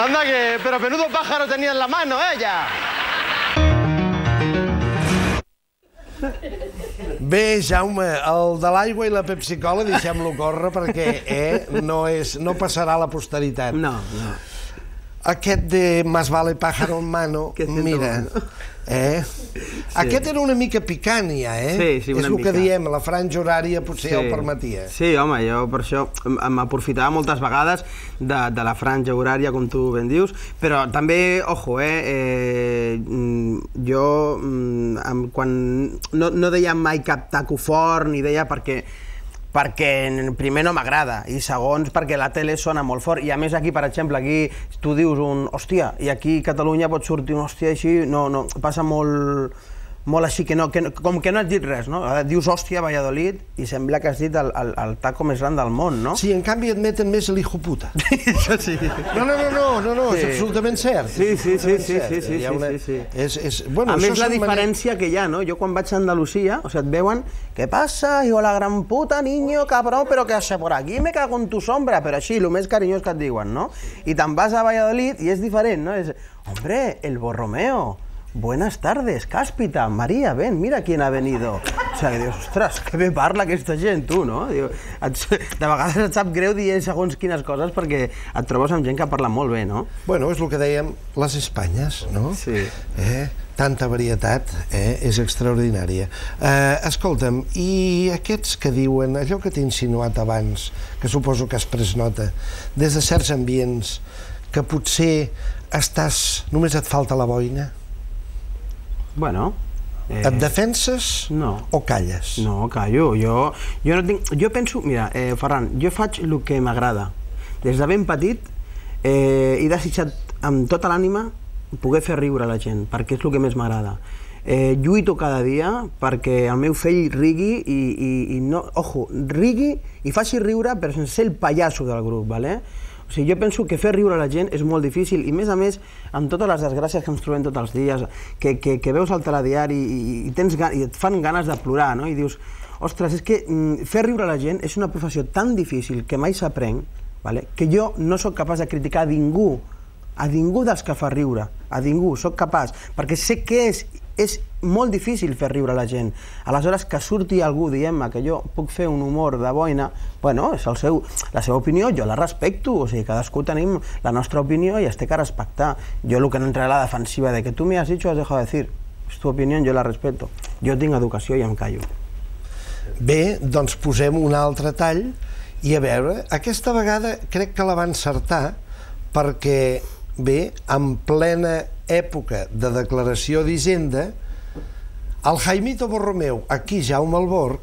C: Anda que, pero menudo pájaro tenía en la mano ella.
A: Bé, Jaume, el de l'aigua i la Pepsi-Cola deixem-lo córrer perquè no passarà a la posteritat.
D: No.
A: Aquest de más vale pájaro en mano, mira, aquest era una mica picant ja,
D: Sí, una mica.
A: És el que diem, la franja horària potser ja ho permetia.
D: Sí, home, jo per això m'aprofitava moltes vegades de la franja horària, com tu ben dius, però també, ojo, jo quan no deia mai cap taco fort, ni deia perquè primer no m'agrada i segons perquè la tele sona molt fort i a més aquí, per exemple, aquí tu dius un hòstia i aquí a Catalunya pot sortir un hòstia així, no, passa molt així, com que no has dit res, no? Dius hòstia, Valladolid, i sembla que has dit el taco més gran del món, no?
A: Sí, en canvi et meten més l'hijo puta.
D: Això sí.
A: No, és absolutament cert.
D: Sí. A més, la diferència que hi ha, no? Jo quan vaig a Andalusia, o sigui, et veuen, ¿qué pasa, hijo la gran puta, niño, cabrón, pero que hace por aquí, me cago en tu sombra, però així, el més carinyós que et diuen, no? I te'n vas a Valladolid i és diferent, no? És, hombre, el Borromeo. Buenas tardes, Cáspita, María, ven, mira quién ha venido. O sigui, dius, ostres, que bé parla aquesta gent, tu, no? De vegades et sap greu dir segons quines coses perquè et trobes amb gent que parla molt bé, no?
A: Bueno, és el que dèiem, les Espanyes, no?
D: Sí.
A: Tanta varietat, és extraordinària. Escolta'm, i aquests que diuen, allò que t'he insinuat abans, que suposo que has pres nota, des de certs ambients, que potser només et falta la boina?
D: Bueno...
A: Et defenses o calles?
D: No, callo. Jo penso... Mira, Ferran, jo faig el que m'agrada. Des de ben petit he desitjat amb tota l'ànima poder fer riure a la gent, perquè és el que més m'agrada. Lluito cada dia perquè el meu fill rigui i no... Ojo, rigui i faci riure però sense ser el pallasso del grup, ¿vale? O sigui, jo penso que fer riure a la gent és molt difícil i, a més, amb totes les desgràcies que ens trobem tots els dies, que veus al telediari i et fan ganes de plorar, no? I dius, ostres, és que fer riure a la gent és una professió tan difícil que mai s'aprèn, que jo no sóc capaç de criticar a ningú dels que fa riure, a ningú, sóc capaç, perquè sé que és molt difícil fer riure a la gent. Aleshores, que surti algú dient-me que jo puc fer un humor de boina, bueno, és la seva opinió, jo la respecto, o sigui, cadascú tenim la nostra opinió i es té que respectar. Jo el que no entraré a la defensiva de que tu me has dicho, has dejado de decir. És tu opinió, jo la respeto. Jo tinc educació i em callo.
A: Bé, doncs posem un altre tall i a veure, aquesta vegada crec que la va encertar perquè, bé, en plena època de declaració d'Hisenda, el Jaimito Borromeo, aquí Jaume Alborg,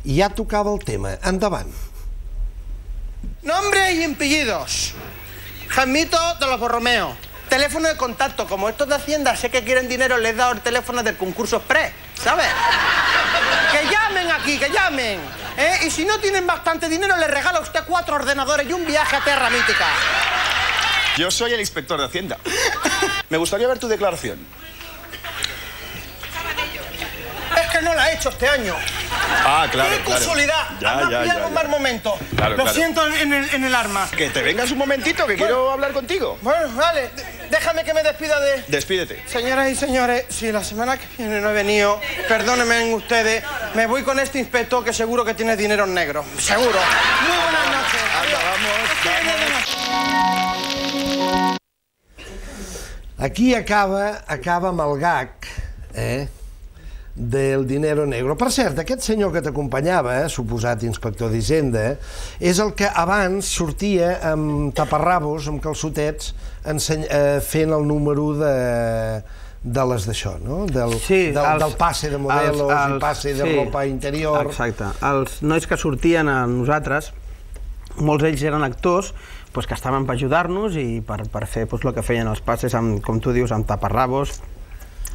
A: ja tocava el tema. Endavant.
C: Nombre y apellidos. Jaimito de los Borromeo. Teléfono de contacto. Como estos de Hacienda sé que quieren dinero, les he dado el teléfono del concurso express, ¿sabes? Que llamen aquí, que llamen. Y si no tienen bastante dinero, les regala a usted 4 ordenadores y un viaje a Terra Mítica.
E: Yo soy el inspector de Hacienda. Me gustaría ver tu declaración.
C: Es que no la he hecho este año.
E: Ah, claro,
C: ¡qué casualidad!
E: Ya.
C: Pillado un mal momento. Lo siento en el arma.
E: Que te vengas un momentito, que quiero hablar contigo.
C: Bueno, vale. Déjame que me despida de...
E: Despídete.
C: Señoras y señores, si la semana que viene no he venido, perdónenme ustedes, me voy con este inspector que seguro que tiene dinero en negro. Seguro. Muy buenas noches.
E: Anda, vamos.
A: Aquí acaba amb el gag, del dinero negro. Per cert, aquest senyor que t'acompanyava, suposat inspector d'Hisenda, és el que abans sortia amb taparrabos, amb calçotets, fent el número de les d'això, no? Del passe de modelos i passe de ropa interior.
D: Exacte. Els nois que sortien a nosaltres, molts d'ells eren actors que estaven per ajudar-nos i per fer el que feien els passes, com tu dius, amb taparrabos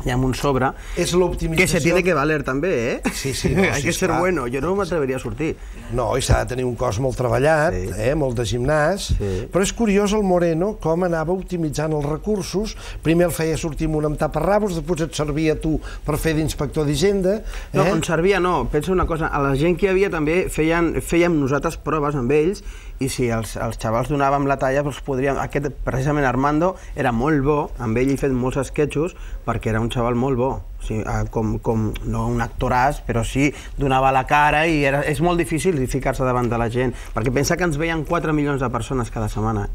D: y amb un sobre, que se tiene que valer també,
A: Sí, sí. No,
D: hay que ser bueno, jo no m'atreveria a sortir.
A: No, i s'ha de tenir un cos molt treballat, molt de gimnàs, però és curiós el Moreno com anava optimitzant els recursos. Primer el feia sortir amb un amb taparrabos, després et servia tu per fer d'inspector d'Hisenda.
D: No, on servia no, pensa una cosa, a la gent que hi havia també fèiem nosaltres proves amb ells, i si els xavals donàvem la talla, aquest, precisament Armando, era molt bo, amb ell he fet molts esquetxos, perquè era un xaval molt bo, no un actoràs, però sí donava la cara i és molt difícil ficar-se davant de la gent, perquè pensa que ens veien 4 milions de persones cada setmana.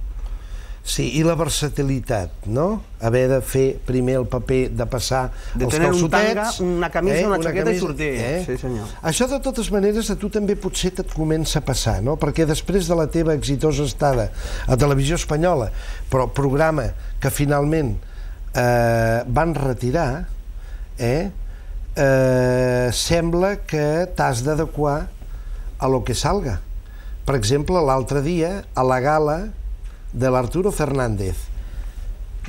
A: Sí, i la versatilitat, no? Haver de fer primer el paper de passar els calçotets...
D: De tenir un tanga, una camisa, una jaqueta i sortir. Sí, senyor.
A: Això, de totes maneres, a tu també potser et comença a passar, no? Perquè després de la teva exitosa estada a Televisió Espanyola, però programa que finalment van retirar, sembla que t'has d'adequar a lo que salga. Per exemple, l'altre dia, a la gala de l'Arturo Fernández.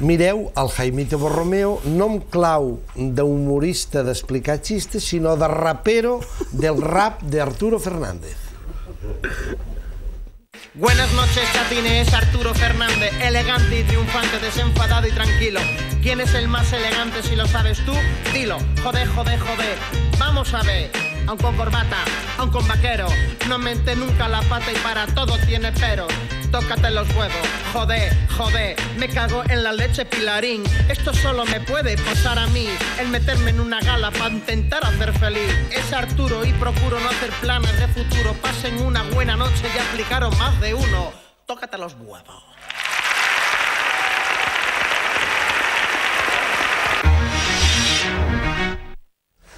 A: Mireu el Jaimito Borromeo, no amb clau d'humorista d'explicar xistes, sinó de rapero del rap de Arturo Fernández.
C: Buenas noches, chatines, Arturo Fernández, elegante y triunfante, desenfadado y tranquilo. ¿Quién es el más elegante si lo sabes tú? Dilo, joder, joder, joder. Vamos a ver, aun con corbata, aun con vaquero, no mente nunca la pata y para todo tiene pero. Tócate los huevos, joder, joder, me cago en la leche Pilarín. Esto solo me puede pasar a mí, el meterme en una gala para intentar hacer feliz. Es Arturo y procuro no hacer planes de futuro. Pasen una buena noche y aplicaron más de uno. Tócate los huevos.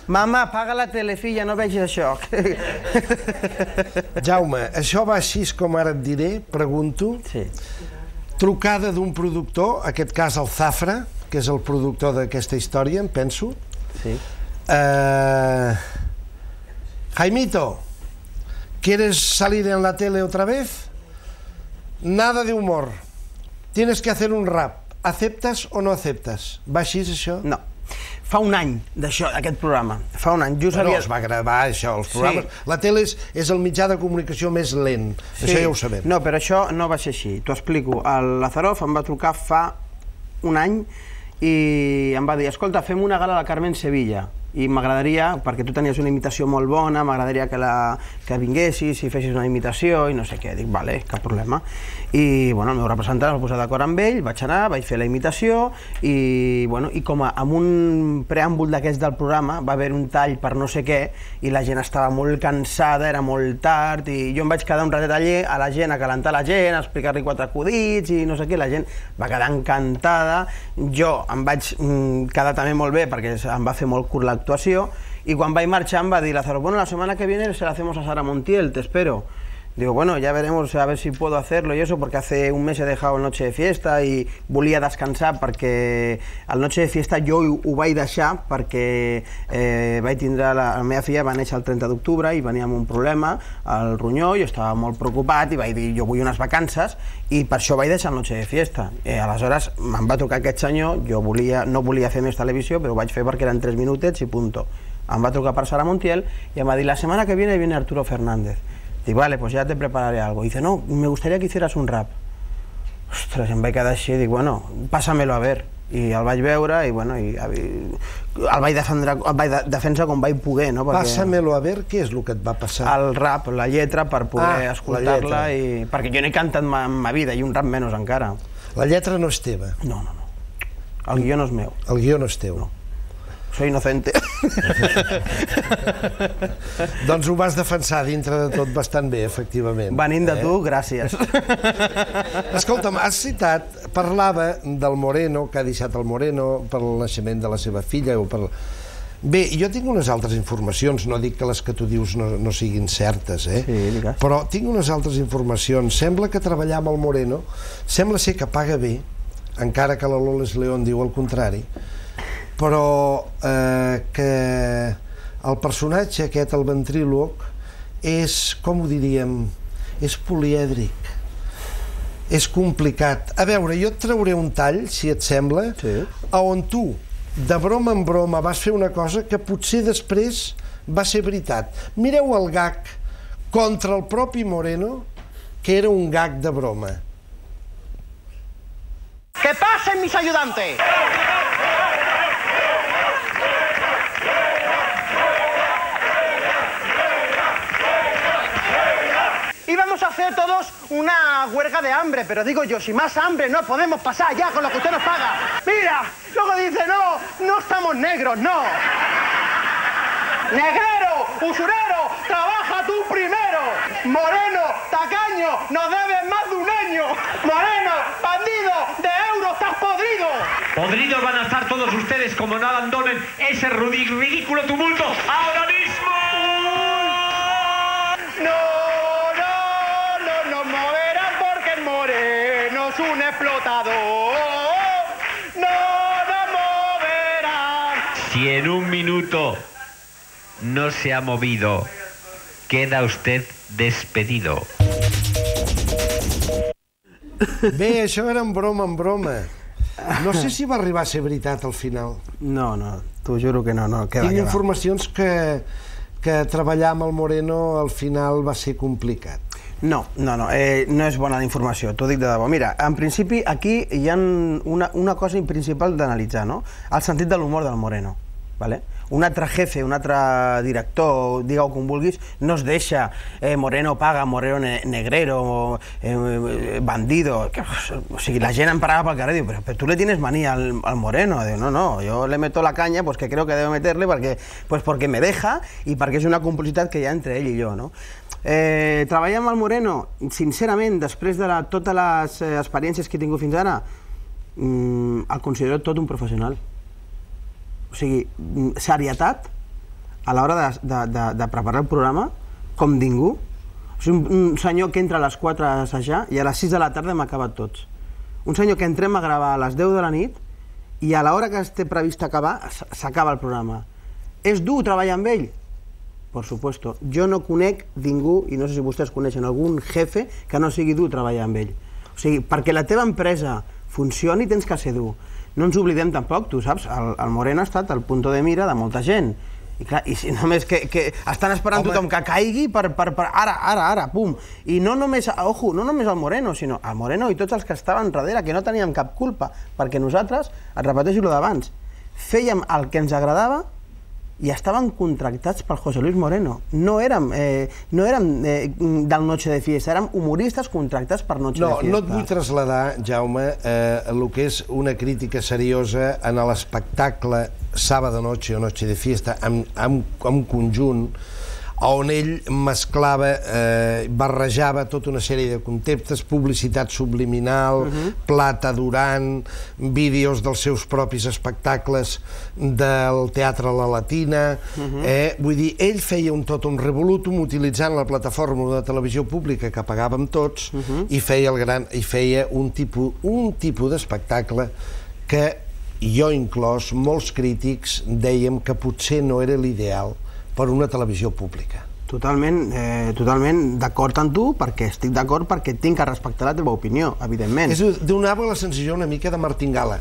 D: Mama, apaga la tele, filla, no vegis això.
A: Jaume, això va així com ara et diré, pregunto.
D: Sí.
A: Trucada d'un productor, en aquest cas el Zafra, que és el productor d'aquesta història, em penso.
D: Sí.
A: Jaimito, ¿quieres salir en la tele otra vez? Nada de humor. Tienes que hacer un rap. ¿Aceptas o no aceptas? Va així, això?
D: No. Fa un any d'això, d'aquest programa. Fa un any.
A: Però es va gravar, això, els programes. La tele és el mitjà de comunicació més lent. Això ja ho sabem.
D: No, però això no va ser així. T'ho explico. El Lazarov em va trucar fa un any i em va dir, escolta, fem una gala a la Carmen Sevilla i m'agradaria, perquè tu tenies una imitació molt bona, m'agradaria que vinguessis i fessis una imitació i no sé què. Dic, vale, cap problema. I el meu representant es va posar d'acord amb ell, vaig anar, vaig fer la imitació i com amb un preàmbul d'aquests del programa va haver un tall per no sé què i la gent estava molt cansada, era molt tard i jo em vaig quedar un ratet allà a la gent, a calentar la gent, a explicar-li 4 acudits i no sé què, la gent va quedar encantada. Jo em vaig quedar també molt bé perquè em va fer molt curt l'actuació y quan vaig marxar em va dir Lázaro, bueno, la semana que viene se la hacemos a Sara Montiel, te espero. Digo, bueno, ya veremos a ver si puedo hacerlo y eso, porque hace un mes he dejado el Noche de Fiesta i volia descansar perquè el Noche de Fiesta jo ho vaig deixar perquè vaig tindre la meva filla, va néixer el 30 d'octubre i venia amb un problema al ronyó, jo estava molt preocupat i vaig dir, jo vull unes vacances i per això vaig deixar el Noche de Fiesta. Aleshores me'n va trucar aquest senyor, jo no volia fer més televisió, però ho vaig fer perquè eren 3 minutets i punto. Em va trucar per Sara Montiel y em va dir, la semana que viene Arturo Fernández. Digo, vale, pues ya te prepararé algo. Y dice, no, me gustaría que hicieras un rap. Ostres, em vaig quedar així, dic, bueno, pásamelo a ver. I el vaig veure i, bueno, el vaig defensar com vaig poder, no?
A: Pásamelo a ver, què és el que et va passar?
D: El rap, la lletra, per poder escoltar-la, perquè jo no he cantat en ma vida, i un rap menys encara.
A: La lletra no és teva?
D: No. El guió no és meu.
A: El guió no és teu?
D: No. soy inocente.
A: Doncs ho vas defensar dintre de tot bastant bé, efectivament.
D: Venint de tu, gràcies.
A: Escolta'm, has citat, parlava del Moreno, que ha deixat el Moreno per el naixement de la seva filla o per... Bé, jo tinc unes altres informacions, no dic que les que tu dius no siguin certes, però tinc unes altres informacions. Sembla que treballar amb el Moreno, sembla ser que paga bé, encara que la Loles León diu el contrari, però que el personatge aquest, el ventríloc, és, com ho diríem, és polièdric, és complicat. A veure, jo et trauré un tall, si et sembla, on tu, de broma en broma, vas fer una cosa que potser després va ser veritat. Mireu el gag contra el propi Moreno, que era un gag de broma.
C: ¡Que pasen mis ayudantes! Íbamos a hacer todos una huelga de hambre, pero digo yo, si más hambre no podemos pasar ya con lo que usted nos paga. Mira, luego dice, no estamos negros, no. Negrero, usurero, trabaja tú primero. Moreno, tacaño, nos debes más de un año. Moreno, bandido, de euros estás podrido.
G: Podridos van a estar todos ustedes como no abandonen ese ridículo tumulto ahora mismo.
C: No moverán porque el Moreno es un explotador. No moverán.
G: Si en un minuto no se ha movido, queda usted despedido.
A: Bé, això era en broma. No sé si va arribar a ser veritat al final.
D: No, t'ho juro que no.
A: Tinc informacions que treballar amb el Moreno al final va ser complicat.
D: No és bona la informació, t'ho dic de debò. Mira, en principi aquí hi ha una cosa principal d'analitzar, no? El sentit de l'humor del Moreno, ¿vale? Un altre jefe, un altre director, digue-ho com vulguis, no es deixa Moreno paga, Moreno negrero, bandido... O sigui, la gent em parava pel carrer i diu, però tu le tienes manía al Moreno. Diu, no, yo le meto la caña pues que creo que debo meterle porque me deja y perquè és una complicitat que hi ha entre ell i jo, no? Treballar amb el Moreno, sincerament, després de totes les experiències que he tingut fins ara, el considero tot un professional. O sigui, serietat a l'hora de preparar el programa com ningú. O sigui, un senyor que entra a les 4 a assajar i a les 6 de la tarda hem acabat tots. Un senyor que entrem a gravar a les 10 de la nit i a l'hora que té previst acabar s'acaba el programa. És dur treballar amb ell? Por supuesto. Jo no conec ningú, i no sé si vostès coneixen algun jefe que no sigui dur treballar amb ell. O sigui, perquè la teva empresa funcioni tens que ser dur. No ens oblidem tampoc, tu saps, el Moreno ha estat el punto de mira de molta gent. I clar, i si només que estan esperant tothom que caigui per ara, pum. I no només, ojo, no només el Moreno, sinó el Moreno i tots els que estaven darrere, que no teníem cap culpa, perquè nosaltres, et repeteixo el d'abans, fèiem el que ens agradava i estaven contractats per José Luis Moreno. No érem del Noche de Fiesta, érem humoristes contractats per Noche de Fiesta.
A: No et vull traslladar, Jaume, el que és una crítica seriosa en l'espectacle Sábado Noche o Noche de Fiesta en conjunt, on ell mesclava, barrejava tota una sèrie de conceptes, publicitat subliminal, plata durant, vídeos dels seus propis espectacles del Teatre La Latina. Vull dir, ell feia tot un revolutum utilitzant la plataforma de televisió pública que pagàvem tots i feia un tipus d'espectacle que jo inclòs, molts crítics dèiem que potser no era l'ideal per una televisió pública.
D: Totalment d'acord amb tu, perquè estic d'acord perquè tinc que respectar la teva opinió, evidentment.
A: Donava la sensació una mica de martingala.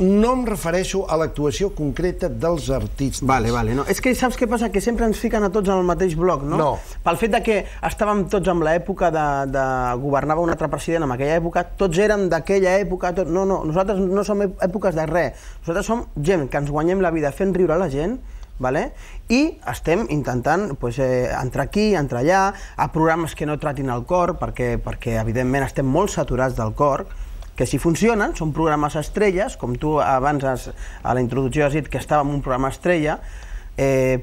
A: No em refereixo a l'actuació concreta dels artistes.
D: Vale. És que saps què passa? Que sempre ens fiquen a tots en el mateix bloc, no?
A: No.
D: Pel fet que estàvem tots en l'època de governava un altre president en aquella època, tots érem d'aquella època, no, nosaltres no som èpoques de res. Nosaltres som gent que ens guanyem la vida fent riure a la gent, i estem intentant entrar aquí, entrar allà, a programes que no tratin el cor, perquè evidentment estem molt saturats del cor, que si funcionen, són programes estrelles, com tu abans a la introducció has dit que estava en un programa estrella,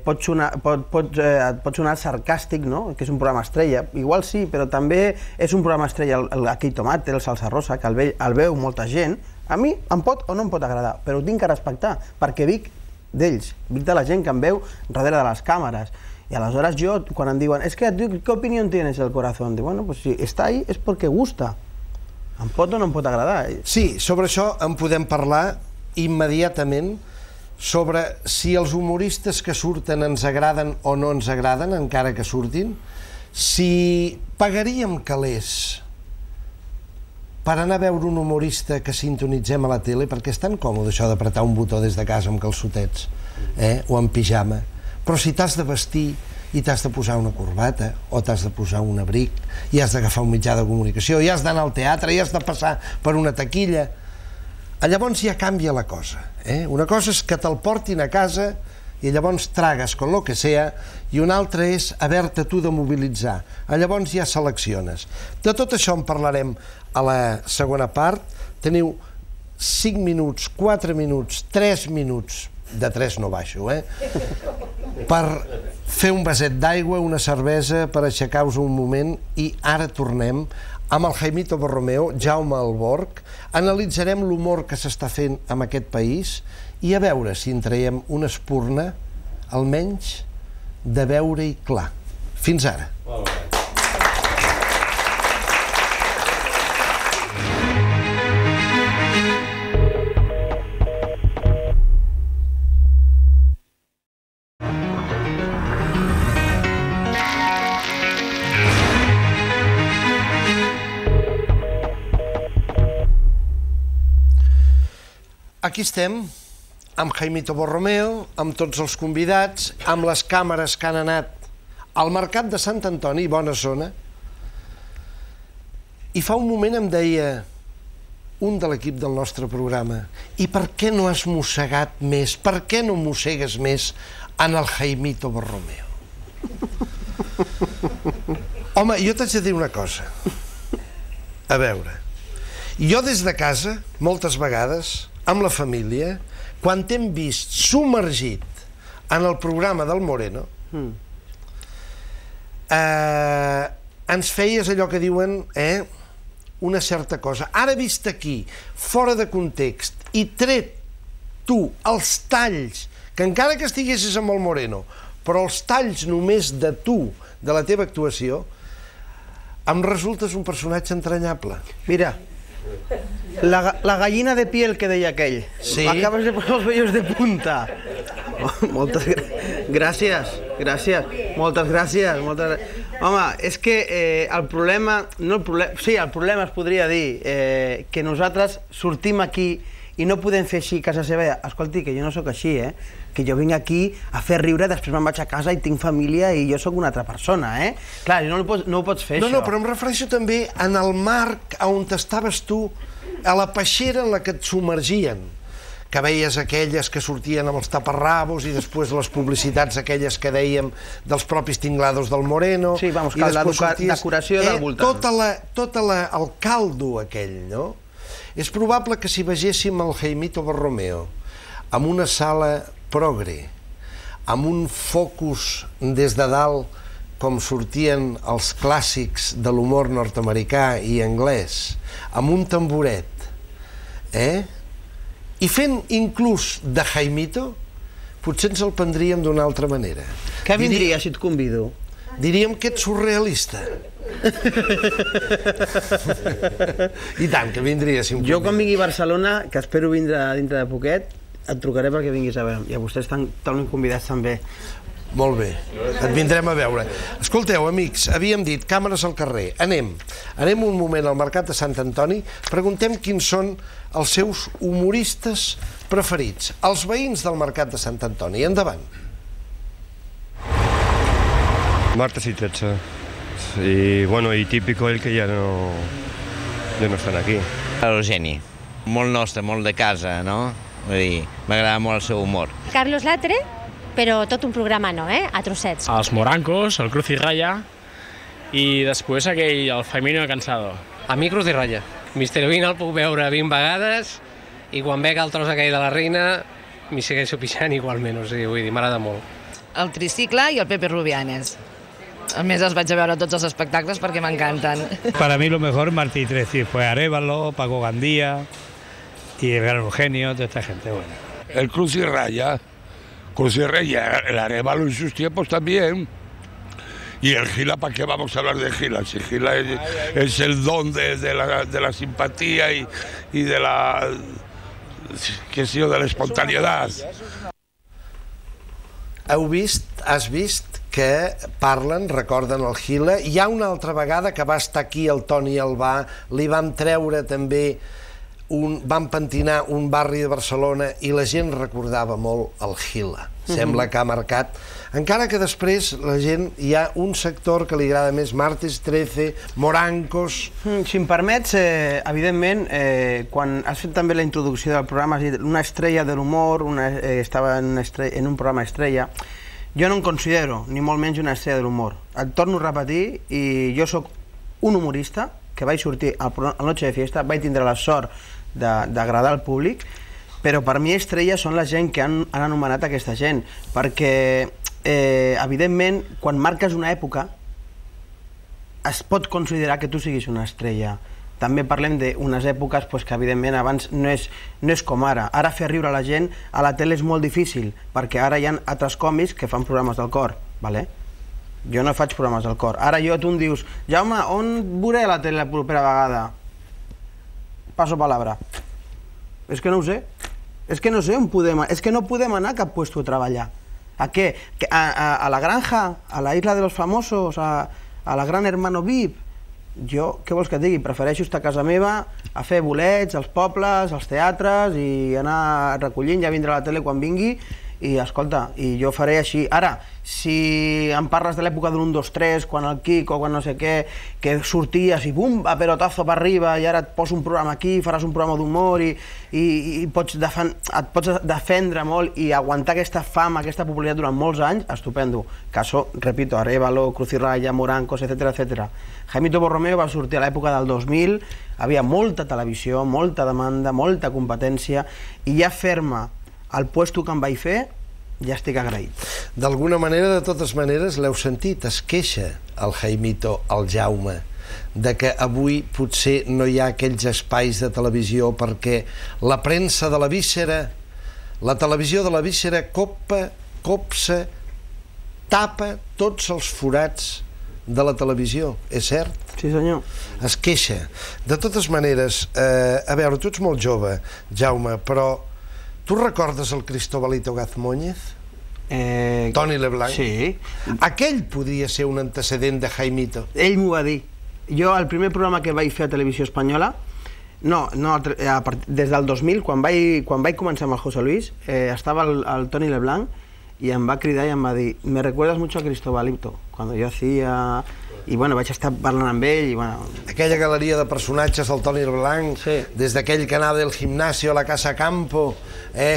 D: pot sonar sarcàstic, no? Que és un programa estrella. Igual sí, però també és un programa estrella aquell tomate, el salsa rosa, que el veu molta gent. A mi em pot o no em pot agradar, però ho tinc que respectar, perquè vic d'ells, vic de la gent que em veu darrere de les càmeres. I aleshores jo, quan em diuen, ¿qué opinión tienes del corazón? Dic, bueno, pues si està ahí és perquè gusta. Em pot o no em pot agradar.
A: Sí, sobre això en podem parlar immediatament, sobre si els humoristes que surten ens agraden o no ens agraden, encara que surtin, si pagaríem calés per anar a veure un humorista que sintonitzem a la tele, perquè és tan còmode això d'apretar un botó des de casa amb calçotets, o amb pijama, però si t'has de vestir i t'has de posar una corbata o t'has de posar un abric i has d'agafar un mitjà de comunicació i has d'anar al teatre i has de passar per una taquilla, llavors ja canvia la cosa. Una cosa és que te'l portin a casa i llavors tragues con lo que sea, i una altra és haver-te tu de mobilitzar. Llavors ja selecciones. De tot això en parlarem a la segona part. Teniu 5 minuts, 4 minuts, 3 minuts, de 3 no baixo, per fer un vaset d'aigua, una cervesa, per aixecar-vos un moment, i ara tornem amb el Jaimito Borromeo, Jaume Alborch, analitzarem l'humor que s'està fent en aquest país i a veure si en traiem una espurna, almenys, de veure-hi clar. Fins ara. Aquí estem, amb Jaimito Borromeo, amb tots els convidats, amb les càmeres que han anat al Mercat de Sant Antoni, bona zona, i fa un moment em deia un de l'equip del nostre programa, i per què no has mossegat més, per què no mossegues més en el Jaimito Borromeo? Home, jo t'haig de dir una cosa. A veure, jo des de casa, moltes vegades, amb la família, quan t'hem vist submergit en el programa del Moreno, ens feies allò que diuen una certa cosa. Ara vist aquí, fora de context, i tret tu els talls, que encara que estiguessis amb el Moreno, però els talls només de tu, de la teva actuació, em resultes un personatge entranyable.
D: Mira, la gallina de piel que deia aquell.
A: Sí?
D: Acabes de posar els vellos de punta. Moltes gràcies, moltes gràcies. Home, és que el problema, sí, el problema es podria dir que nosaltres sortim aquí i no podem fer així a casa seva. Escolti, que jo no sóc així, que jo vinc aquí a fer riure, després me'n vaig a casa i tinc família i jo sóc una altra persona, Clar, no ho pots fer, això.
A: No, però em refereixo també en el marc on estaves tu, a la peixera en la que et submergien, que veies aquelles que sortien amb els taparrabos i després les publicitats aquelles que dèiem dels propis tinglados del Moreno.
D: Sí, vamos, que la decoració del voltant.
A: Tot el caldo aquell, no? És probable que si vegéssim el Jaimito Borromeo amb una sala progre, amb un focus des de dalt com sortien els clàssics de l'humor nord-americà i anglès, amb un tamboret, i fent inclús de Jaimito, potser ens el prendríem d'una altra manera.
D: Què vindria si et convido?
A: Diríem que ets surrealista. I tant, que vindria si em convido.
D: Jo quan vingui a Barcelona, que espero vindre dintre de poquet, et trucaré perquè vinguis a veure. I a vostès estan totalment convidats també.
A: Molt bé, et vindrem a veure. Escolteu, amics, havíem dit càmeres al carrer. Anem un moment al Mercat de Sant Antoni, preguntem quins són els seus humoristes preferits. Els veïns del Mercat de Sant Antoni. Endavant.
H: Martes y 13. Y bueno, y típico el que ya no estan aquí.
I: Eugeni, molt nostre, molt de casa, no? Vull dir, m'agrada molt el seu humor.
K: Carlos Latre, però tot un programa no, a trossets.
X: Els Morancos, el Cruz y Raya, i després aquell, el Faimino Cansado.
Y: A mi Cruz y Raya.
J: Mister Bean el puc veure 20 vegades i quan veig el tros aquell de la reina m'hi segueixo pixant igualment, o sigui, vull dir, m'agrada molt.
L: El Tricicle i el Pepe Rubianes. A més, els vaig a veure tots els espectacles perquè m'encanten.
O: Para mí lo mejor Martí Treci fue Arévalo, Paco Gandía y el Gran Eugenio, toda esta gente buena.
X: El Cruz y Raya, el Arévalo en sus tiempos también. Y el Gila, ¿para qué vamos a hablar de Gila? Si Gila es el don de la simpatía y de la, qué sé yo, de la espontaneidad.
A: Has vist que parlen, recorden el Gila. Hi ha una altra vegada que va estar aquí el Toni Albà, li vam treure també, vam pentinar un barri de Barcelona i la gent recordava molt el Gila. Sembla que ha marcat, encara que després la gent, hi ha un sector que li agrada més, Martes 13, Morancos...
D: Si em permets, evidentment, quan has fet també la introducció del programa, has dit una estrella de l'humor, estava en un programa estrella, jo no em considero, ni molt menys, una estrella de l'humor. Et torno a repetir, i jo sóc un humorista, que vaig sortir a la Noche de Fiesta, vaig tindre la sort d'agradar al públic, però per mi estrella són la gent que han anomenat aquesta gent, perquè evidentment quan marques una època es pot considerar que tu siguis una estrella. També parlem d'unes èpoques que evidentment abans no és com ara. Ara fer riure la gent a la tele és molt difícil, perquè ara hi ha altres còmics que fan programes del cor. Jo no faig programes del cor. Ara tu em dius, Jaume, on veuré la tele la propera vegada? Passo palabra. És que no ho sé. És que no sé on podem... És que no podem anar a cap puesto a treballar. A què? A la granja? A la isla de los famosos? A la gran hermano VIP? Jo, què vols que et digui? Prefereixo estar a casa meva, a fer bolets, als pobles, als teatres i anar recollint, ja vindrà la tele quan vingui i, escolta, i jo faré així. Ara, si em parles de l'època de l'1, 2, 3, quan el Quico, quan no sé què, que sorties i bum, a pelotazo per arriba i ara et poso un programa aquí, faràs un programa d'humor i et pots defendre molt i aguantar aquesta fama, aquesta popularitat durant molts anys, estupendo. Caso, repito, Arévalo, Cruz y Raya, Morancos, etc. Jaimito Borromeo va sortir a l'època del 2000, havia molta televisió, molta demanda, molta competència i ja fer-me el puesto que em vaig fer, ja estic agraït.
A: D'alguna manera, de totes maneres, l'heu sentit, es queixa el Jaimito, el Jaume, de que avui potser no hi ha aquells espais de televisió perquè la premsa de la víscera, la televisió de la víscera copsa, tapa tots els forats de la televisió, és cert?
D: Sí, senyor.
A: Es queixa. De totes maneres, a veure, tu ets molt jove, Jaume, però tu recordes el Cristobalito Gazmóñez? Toni Leblanc?
D: Sí.
A: Aquell podria ser un antecedent de Jaimito.
D: Ell m'ho va dir. Jo, el primer programa que vaig fer a Televisió Espanyola, des del 2000, quan vaig començar amb el José Luis, estava el Toni Leblanc i em va cridar i em va dir «Me recuerdas mucho a Cristobalito», quan jo hacía... I bueno, vaig estar parlant amb ell i bueno...
A: Aquella galeria de personatges del Toni Leblanc, des d'aquell que anava del gimnasio a la Casa Campo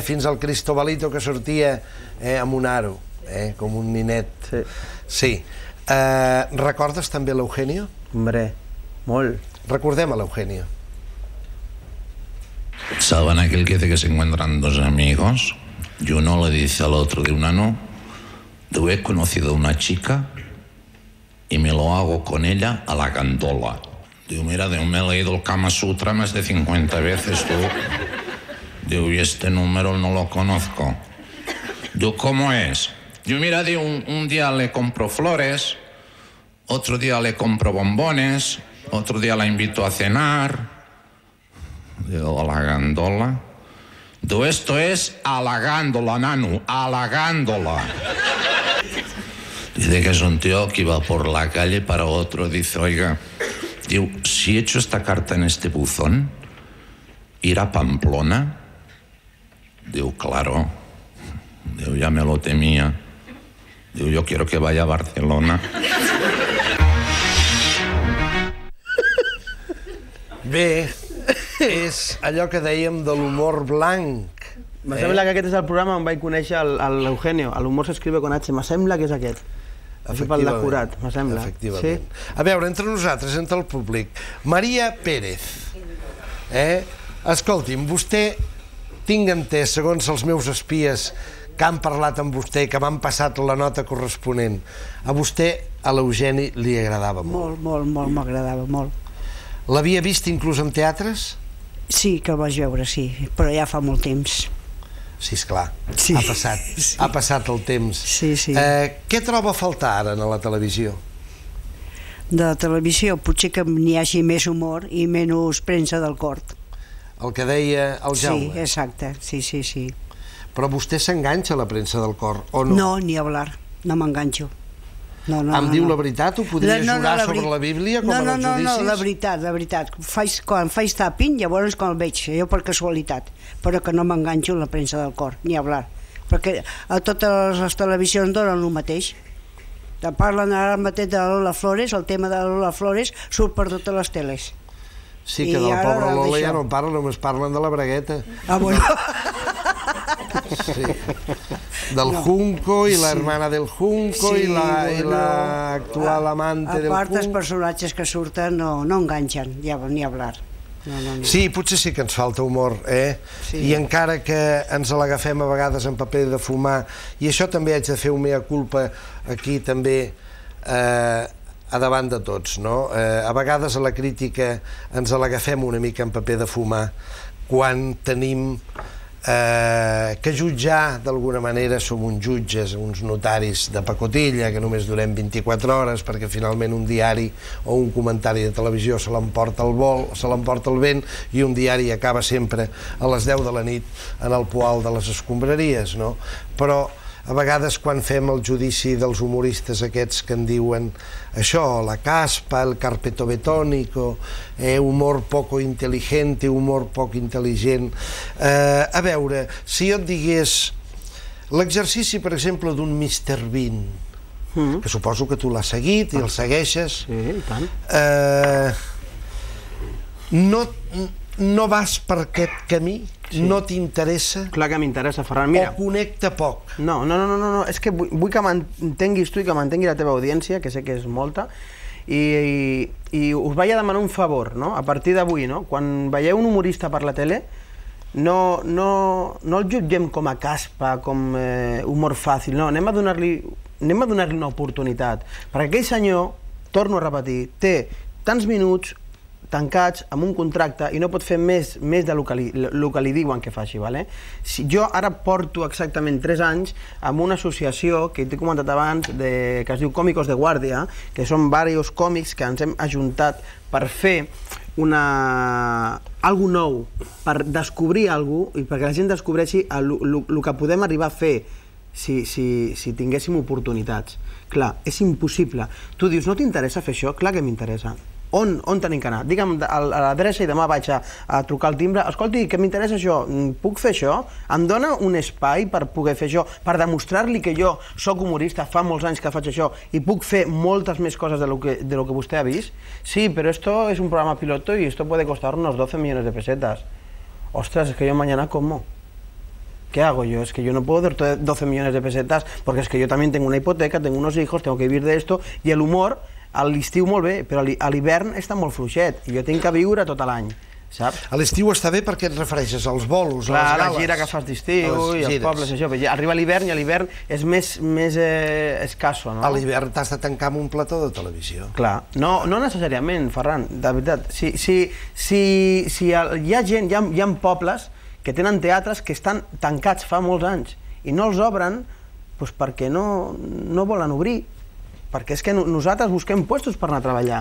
A: fins al Cristobalito que sortia amb un aro, com un ninet. Sí. Recordes també l'Eugenio?
D: Hombre, molt.
A: Recordem a l'Eugenio.
Y: ¿Saben aquel que dice que se encuentran dos amigos y uno le dice al otro de una no? Yo he conocido a una chica y me lo hago con ella a la gandola. Digo, mira, me he leído el Kama Sutra más de 50 veces, tú. Digo, y este número no lo conozco. Digo, ¿cómo es? Digo, mira, digo, un día le compro flores, otro día le compro bombones, otro día la invito a cenar. Digo, a la gandola. Digo, esto es a la gándola, Nanu, a la gándola. Dice que es un tío que iba por la calle para otro. Dice, oiga, digo, si echo esta carta en este buzón, ¿ir a Pamplona? Digo, claro. Digo, ya me lo temía. Digo, yo quiero que vaya a Barcelona.
A: Bé, és allò que dèiem de l'humor blanc.
D: Me sembla que aquest és el programa on vaig conèixer l'Eugenio. L'humor s'escribe con H. Me sembla que és aquest. Això pel decorat, me sembla.
A: Efectivament. A veure, entre nosaltres, entre el públic, Maria Pérez. Escolti'm, vostè, tinc entès, segons els meus espies que han parlat amb vostè, que m'han passat la nota corresponent, a vostè, a l'Eugeni, li agradava molt.
M: Molt, m'agradava molt.
A: L'havia vist inclús en teatres?
M: Sí, que el vaig veure, sí, però ja fa molt temps.
A: Sí, esclar, ha passat el temps.
M: Sí.
A: Què troba a faltar ara a la televisió?
M: De la televisió potser que n'hi hagi més humor i menys premsa del cort.
A: El que deia el Jaume?
M: Sí, exacte, sí.
A: Però vostè s'enganxa a la premsa del cor, o no?
M: No, ni hablar, no m'enganxo.
A: Em diu la veritat? Ho podria jurar sobre la Bíblia com en els judicis?
M: No, la veritat. Quan faig tàping, llavors quan el veig, jo per casualitat, però que no m'enganxo a la premsa del cor, ni hablar. Perquè a totes les televisions donen el mateix. Parlen ara mateix de Lola Flores, el tema de Lola Flores surt per totes les teles.
A: Sí, que de la pobra Lola ja no parlen, només parlen de la bragueta.
M: Ah, bueno.
A: Sí. Del Junco i la hermana del Junco i l'actual amante del Junco.
M: A part, els personatges que surten no enganxen, ni hablar.
A: Sí, potser sí que ens falta humor, i encara que ens l'agafem a vegades en paper de fumar, i això també haig de fer un mea culpa aquí també a davant de tots, no? A vegades a la crítica ens l'agafem una mica en paper de fumar quan tenim que jutjar d'alguna manera som uns jutges, uns notaris de pacotilla que només durem 24 hores perquè finalment un diari o un comentari de televisió se l'emporta el vol, se l'emporta el vent, i un diari acaba sempre a les 10 de la nit en el poal de les escombraries, no? Però a vegades quan fem el judici dels humoristes aquests que en diuen això, la caspa, el carpeto betónico, humor poco inteligente, humor poc intel·ligent. A veure, si jo et digués l'exercici, per exemple, d'un Mr. Bean, que suposo que tu l'has seguit i el segueixes, no vas per aquest camí? No t'interessa?
D: Clar que m'interessa, Ferran. Mira,
A: o connecta poc?
D: No, és que vull que m'entenguis tu i que m'entengui la teva audiència, que sé que és molta, i us vaig a demanar un favor, no? A partir d'avui, no? Quan veieu un humorista per la tele, no el jutgem com a caspa, com humor fàcil, no, anem a donar-li una oportunitat, perquè aquell senyor, torno a repetir, té tants minuts tancats amb un contracte i no pot fer més del que li diuen que faci. Jo ara porto exactament 3 anys amb una associació que t'he comentat abans que es diu Còmicos de Guàrdia, que són diversos còmics que ens hem ajuntat per fer algo nou, per descobrir alguna cosa i perquè la gent descobreixi el que podem arribar a fer si tinguéssim oportunitats. Clar, és impossible. Tu dius, no t'interessa fer això? Clar que m'interessa. On tenim que anar? Digue'm a l'adreça i demà vaig a trucar al timbre. Escolti, que m'interessa això, puc fer això? Em dona un espai per poder fer això, per demostrar-li que jo soc humorista, fa molts anys que faig això i puc fer moltes més coses de lo que vostè ha vist? Sí, però esto es un programa piloto y esto puede costar unos 12 millones de pesetas. Ostras, es que yo mañana como. ¿Qué hago yo? Es que yo no puedo dar 12 millones de pesetas porque es que yo también tengo una hipoteca, tengo unos hijos, tengo que vivir de esto, y el humor a l'estiu molt bé, però a l'hivern està molt fluixet i jo tinc que viure tot l'any, saps?
A: A l'estiu està bé perquè et refereixes als bolos, a les
D: gales.
A: gales.
D: La gira que fas d'estiu i els pobles, això. Arriba l'hivern i a l'hivern és més escasso, no?
A: A l'hivern t'has de tancar amb un plató de televisió.
D: Clar, no necessàriament, Ferran, de veritat. Si hi ha gent, hi ha pobles que tenen teatres que estan tancats fa molts anys i no els obren perquè no volen obrir. Perquè és que nosaltres busquem puestos per anar a treballar.